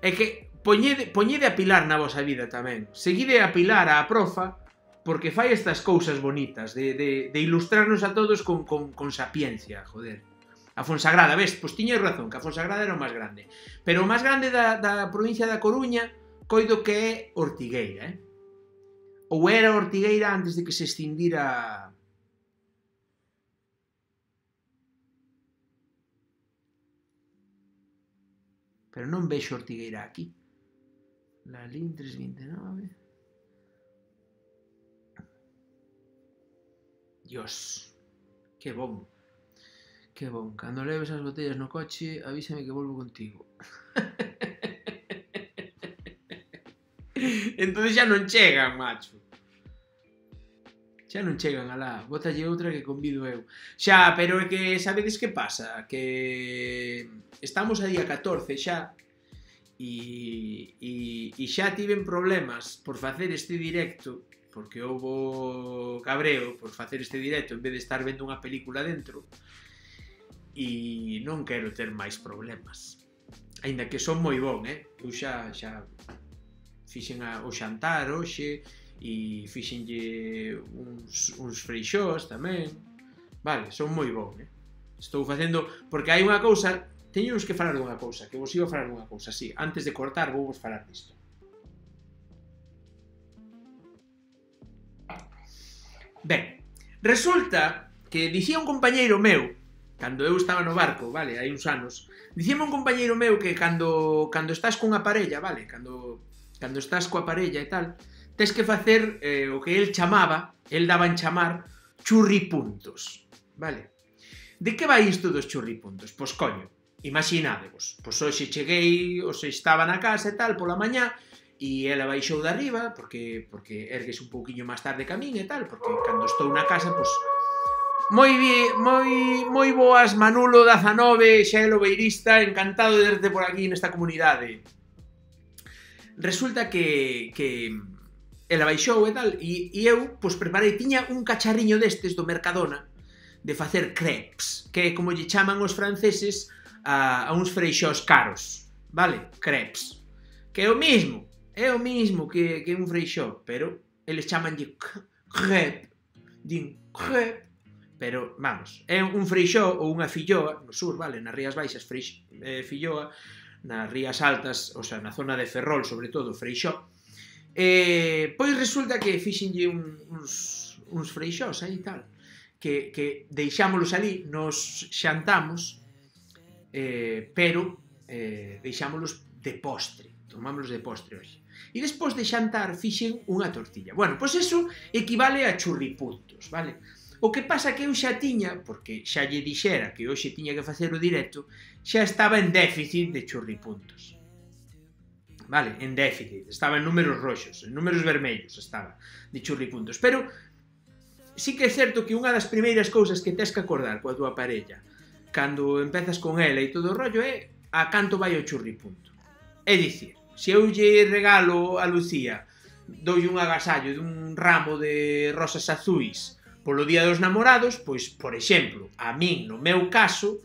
É que poñede, poñede a Pilar na vosa vida tamén. Seguide a Pilar, a profa, porque fai estas cousas bonitas, de, de, de ilustrarnos a todos con, con, con sapiencia, joder. A Fonsagrada, ves, pois tiñes razón, que a Fonsagrada era o máis grande. Pero o máis grande da, da provincia da Coruña, coido que é Ortigueira, eh? Ou era Ortigueira antes de que se extinguira... Pero non vexo Ortigueira aquí. Lalín trescentos vinte e nove... Dios, que bon. Que bon. Cando leves as botellas no coche, avísame que volvo contigo. Entón xa non chegan, macho. Xa non chegan, alá. Bótalle outra que convido eu. Xa, pero é que sabedes que pasa? Que estamos a día catorce xa e, e, e xa tiven problemas por facer este directo, porque houbo cabreo por facer este directo en vez de estar vendo unha película dentro, e non quero ter máis problemas. Aínda que son moi bon, eh? Eu xa, xa fixen a, o xantar hoxe e fixenlle uns, uns freixós tamén. Vale, son moi bon, eh? Estou facendo... Porque hai unha cousa... Teño que falar dunha cousa, que vos iba a falar dunha cousa, sí. Antes de cortar vou vos falar disto. Ben, resulta que dicía un compañeiro meu, cando eu estaba no barco, vale, hai uns anos, dicíame un compañeiro meu que cando, cando estás cunha parella, vale, cando... cando estás coa parella e tal, tes que facer eh, o que el chamaba, el daba en chamar, churripuntos, vale? De que vai isto dos churripuntos? Pois coño, imaginádevos, pois hoxe cheguei, hoxe estaba na casa e tal, pola mañá, e ela baixou de arriba, porque, porque ergues un pouquiño máis tarde que a min e tal, porque cando estou na casa, pois... Moi, moi, moi boas, Manulo dezanove, xa é lobeirista, encantado de verte por aquí nesta comunidade. Resulta que, que ela baixou e tal, e, e eu, pois, preparei, tiña un cacharriño destes do Mercadona de facer crepes, que é como lle chaman os franceses a, a uns freixós caros, vale? Crepes. Que é o mismo, é o mismo que, que un freixó, pero eles chamanlle crepe, din crepe, pero, vamos, é un freixó ou unha filloa, no sur, vale? Nas Rías Baixas, freix, eh, filloa, nas Rías Altas, o sea, na zona de Ferrol, sobre todo, freixó. Eh, pois resulta que fixenlle un, uns, uns freixós aí tal, que, que deixámolos ali, nos xantamos, eh, pero eh, deixámolos de postre, tomámolos de postre hoxe. E despois de xantar fixen unha tortilla. Bueno, pois eso equivale a churripuntos, vale? O que pasa que eu xa tiña, porque xa lle dixera que hoxe tiña que facer o directo, xa estaba en déficit de churripuntos. Vale, en déficit, estaba en números roxos, en números vermellos estaba de churripuntos. Pero sí que é certo que unha das primeiras cousas que tes que acordar coa tua parella cando empezas con ela e todo o rollo é a canto vai o churripunto. É dicir, se eu lle regalo a Lucía, doulle un agasallo dun ramo de rosas azuis polo Día dos Namorados, pois, por exemplo, a min, no meu caso,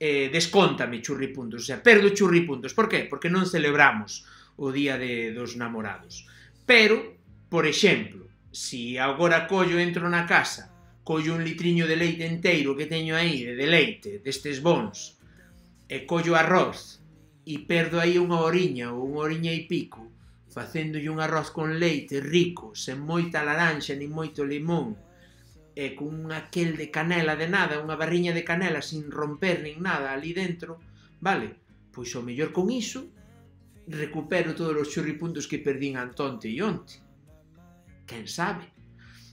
eh, descóntame churripuntos, o sea, perdo churripuntos. Por que? Porque non celebramos o Día de, dos Namorados. Pero, por exemplo, se agora collo entro na casa, collo un litriño de leite enteiro que teño aí, de leite, destes bons, e collo arroz, e perdo aí unha horiña ou unha horiña e pico, facéndolle un arroz con leite rico, sen moita laranxa nin moito limón, e con aquel de canela de nada, unha barriña de canela sin romper nin nada ali dentro, vale? Pois o mellor con iso recupero todos os churripuntos que perdín antonte e onte. Quen sabe?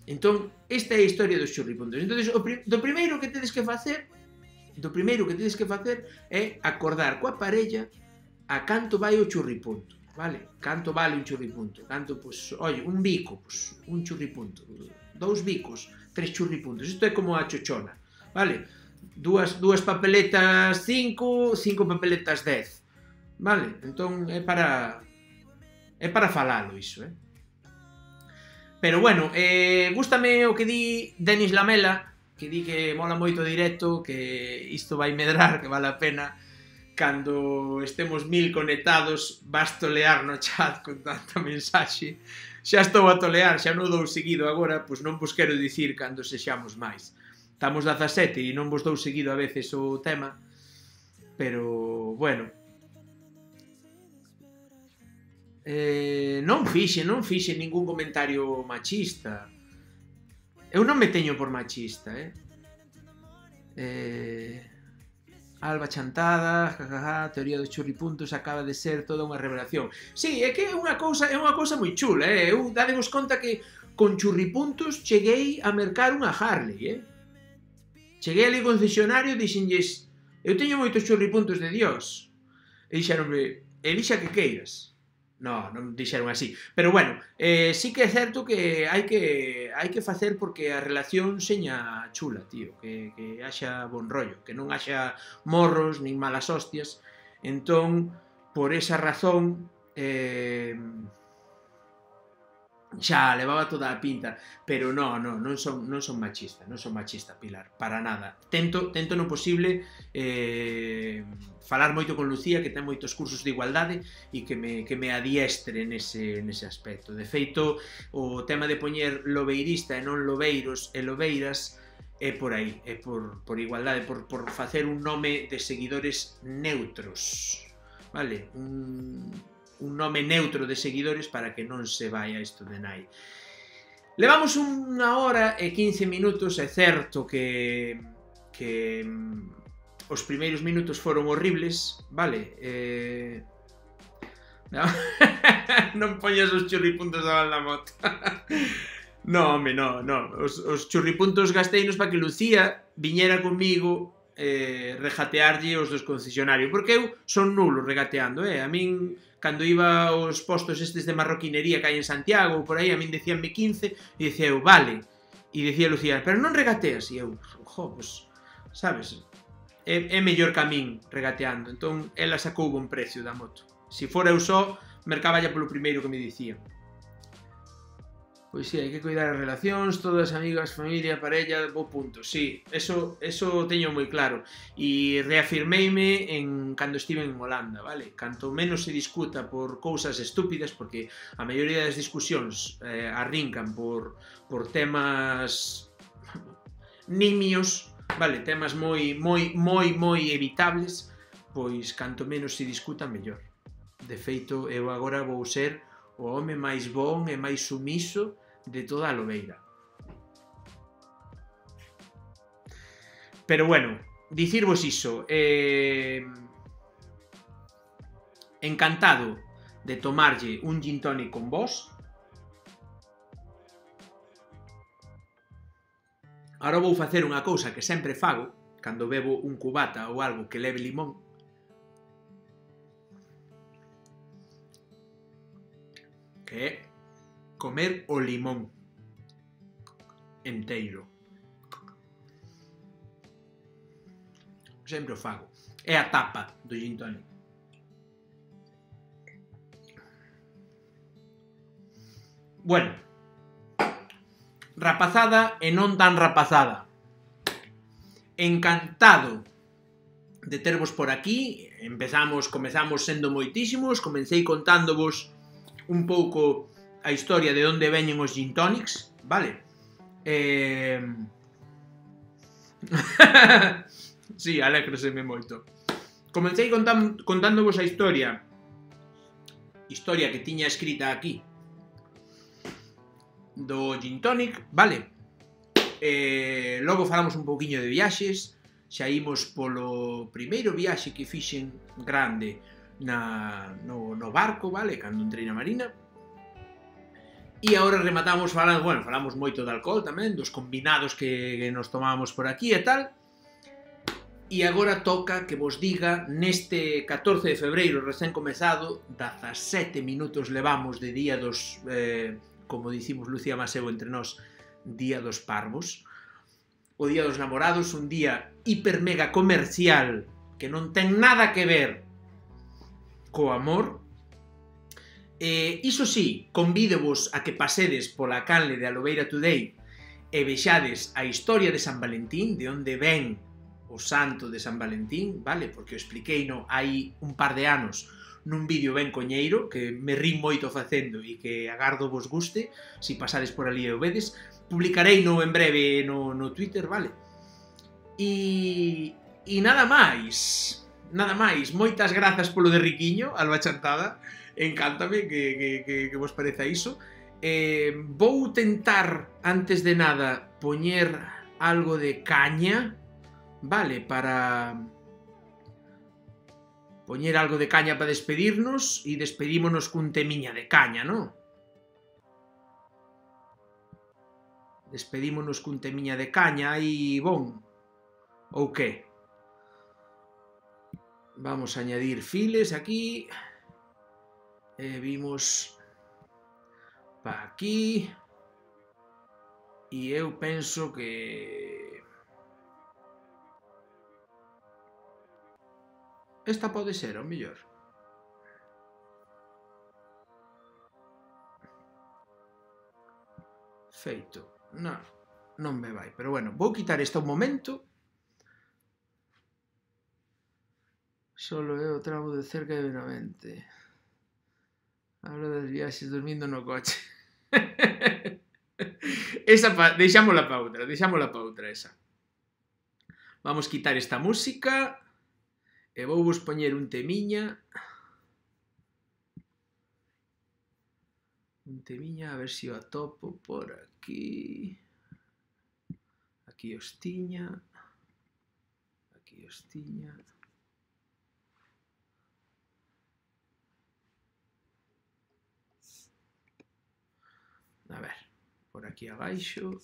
Entón, esta é a historia dos churripuntos. Entón, o pri do primeiro que tedes que facer, do primeiro que tedes que facer é acordar coa parella a canto vai o churripunto, vale? Canto vale un churripunto? Canto, pois, oi, un bico, pois, un churripunto, dous bicos, tres churripuntos. Isto é como a chochona, vale? Dúas, dúas papeletas cinco, cinco papeletas dez, vale? Entón, é para é para falalo iso, eh? Pero bueno, eh, gústame o que di Denis Lamela, que di que mola moito o directo, que isto vai medrar, que vale a pena. Cando estemos mil conectados, vas tolear no chat con tanta mensaxe. Xa estou a tolear, xa non dou seguido agora, pois non vos quero dicir cando sexamos máis. Estamos dezasete e non vos dou seguido a veces o tema, pero, bueno. Eh, non fixe, non fixe ningún comentario machista. Eu non me teño por machista, eh? Eh... Alba chantada, jajaja, teoría dos churripuntos acaba de ser toda unha revelación. Sí, é que é unha cousa, é unha cousa moi chula, eh? Eu dadevos conta que con churripuntos cheguei a mercar unha Harley, eh? Cheguei ali ao concesionario e dixenlles, eu teño moitos churripuntos de Dios. E dixeronme, elixa que queiras. No, non dixeron así. Pero bueno, eh, sí que é certo que hai que hai que facer porque a relación seña chula, tío. Que, que haxa bon rollo, que non haxa morros nin malas hostias. Entón, por esa razón, eh, xa levaba toda a pinta. Pero no, no, non son, non son machista, non son machista, Pilar, para nada. Tento, tento no posible eh, falar moito con Lucía, que ten moitos cursos de igualdade e que me, que me adiestre nese, nese aspecto. De feito, o tema de poñer lobeirista e non lobeiros e lobeiras é por aí, é por, por igualdade, por, por facer un nome de seguidores neutros, vale? Un, un nome neutro de seguidores para que non se vaya isto de nai. Levamos unha hora e quince minutos, é certo que... que os primeiros minutos foron horribles, vale? Eh... No. Non poñas os churripuntos da banda moto. No, home, no, no. Os, os churripuntos gasteinos para que Lucía viñera comigo eh, regatearlle os dos concesionarios, porque eu son nulo regateando, eh? A min, cando iba aos postos estes de marroquinería que hai en Santiago, por aí, a min decíanme quince, e dicía eu, vale. E dicía Lucía, pero non regateas? E eu, jo, pues, sabes... É, é mellor que a min regateando. Entón, ela sacou bon precio da moto. Se fora eu só, mercaballa polo primeiro que me dicía. Pois sí, hai que cuidar as relacións, todas amigas, familia, parella, bo punto. Sí, eso, eso teño moi claro. E reafirmeime en cando estive en Holanda, vale? Canto menos se discuta por cousas estúpidas, porque a maioría das discusións eh, arrincan por, por temas nimios, vale, temas moi, moi, moi, moi evitables, pois canto menos se discuta, mellor. De feito, eu agora vou ser o home máis bon e máis sumiso de toda a lobeira. Pero bueno, dicirvos iso, eh... encantado de tomarlle un gin tonic con vos. Ahora vou facer unha cousa que sempre fago cando bebo un cubata ou algo que leve limón. Que é comer o limón enteiro. sempre o fago. É a tapa do gin tonic. Bueno, rapazada e non tan rapazada. Encantado de tervos por aquí. Empezamos, comezamos sendo moitísimos. Comecei contándovos un pouco a historia de onde veñen os gin tonics, vale? Eh... sí, alégroseme moito. Comecei contándovos a historia historia que tiña escrita aquí do gin tonic, vale? Eh, logo falamos un pouquiño de viaxes. Xa imos polo primeiro viaxe que fixen grande na, no, no barco, vale? Cando entrei na marina. E agora rematamos falando, bueno, falamos moito de alcohol tamén, dos combinados que, que nos tomábamos por aquí e tal. E agora toca que vos diga, neste catorce de febreiro recén comezado, dezasete minutos levamos de día dos, eh, como dicimos Lucía Maseu entre nós, día dos parvos, o día dos namorados, un día hiper mega comercial que non ten nada que ver co amor. Eh, iso sí, convídovos a que pasedes pola canle de Alobeira Today e vexades a historia de San Valentín, de onde ven o santo de San Valentín, vale? Porque o expliquei no hai un par de anos nun vídeo ben coñeiro, que me rí moito facendo e que agardo vos guste, se pasades por ali e o vedes. Publicarei no en breve no, no Twitter, vale? E, e nada máis, nada máis. Moitas grazas polo de Riquiño, Alba Chantada, encántame que, que, que, que vos pareza iso. Eh, vou tentar, antes de nada, poñer algo de caña, vale, para... poñer algo de caña para despedirnos e despedímonos cun temiña de caña, non? Despedímonos cun temiña de caña e bon, ou que? Vamos a añadir files aquí e vimos pa aquí e eu penso que esta pode ser, ao mellor. Feito. Non, non me vai. Pero bueno, vou quitar esta un momento. Solo é o tramo de cerca de Benavente. Hablo das viaxes dormindo no coche. Esa pa... deixámola pa outra, deixámola pa outra esa. Vamos quitar esta música. E vou vos poñer un temiña. Un temiña, a ver se o atopo por aquí. Aquí os tiña. Aquí os tiña. A ver, por aquí abaixo.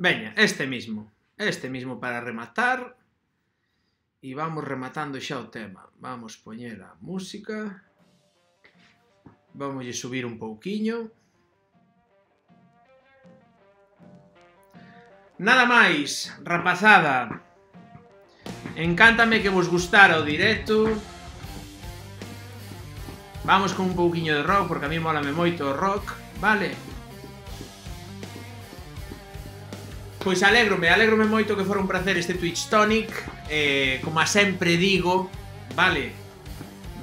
Veña, este mismo. Este mismo para rematar. E vamos rematando xa o tema. Vamos poñer a música. Vamos a subir un pouquiño. Nada máis, rapazada. Encántame que vos gustara o directo. Vamos con un pouquiño de rock, porque a mí molame moito o rock, vale? Pois alégrome, alégrome moito que fora un placer este Twitch Tonic. eh, Como a sempre digo, vale,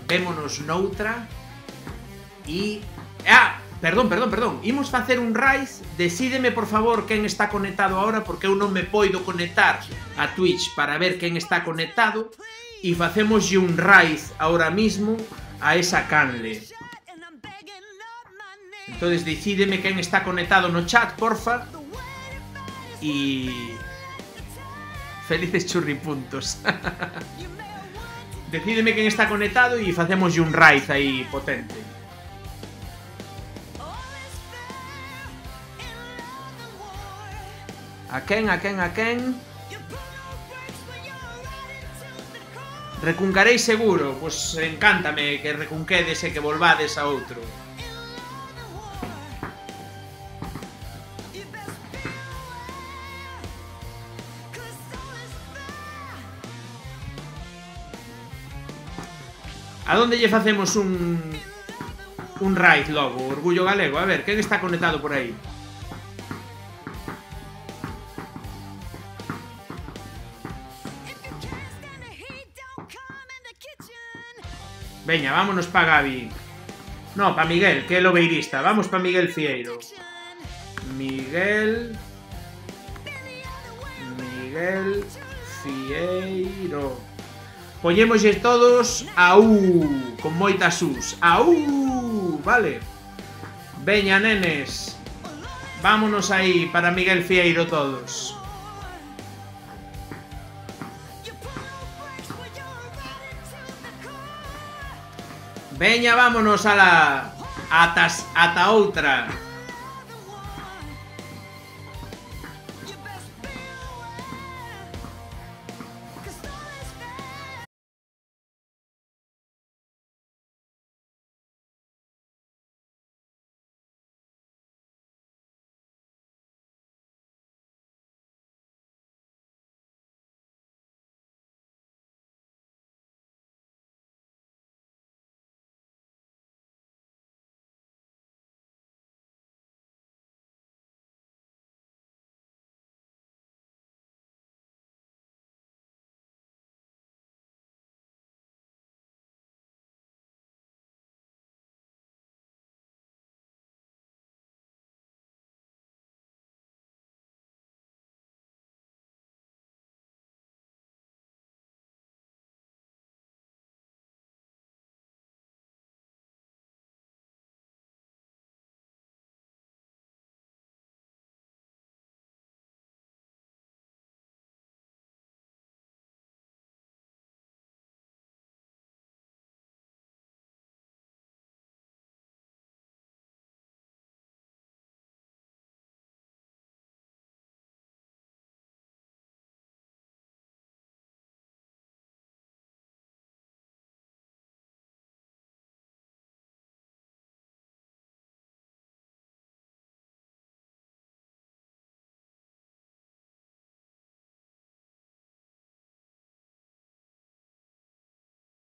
vémonos noutra. E... Ah, perdón, perdón, perdón. Imos facer un raid. Decídeme, por favor, quen está conectado ahora, porque eu non me poido conectar a Twitch para ver quen está conectado. E facémoslle un raid ahora mismo a esa canle. Entonces decídeme quen está conectado no chat, porfa. E... felices churripuntos. Decídeme quen está conectado e facémoslle un raid aí potente. A quen, a quen, a quen? Recuncaréis seguro. Pois encántame que recunquedes e que volvades a outro. A donde lle facemos un... un raid logo, Orgullo Galego? A ver, quen está conectado por aí? Veña, vámonos pa Gabi. No, pa Miguel, que é lobeirista. Vamos pa Miguel Fieiro. Miguel... Miguel Fieiro. Poñémoslle todos a U, con moitas U's. A U, vale. Veña, nenes. Vámonos aí para Miguel Fieiro todos. Veña, vámonos a la... Atas, ata outra.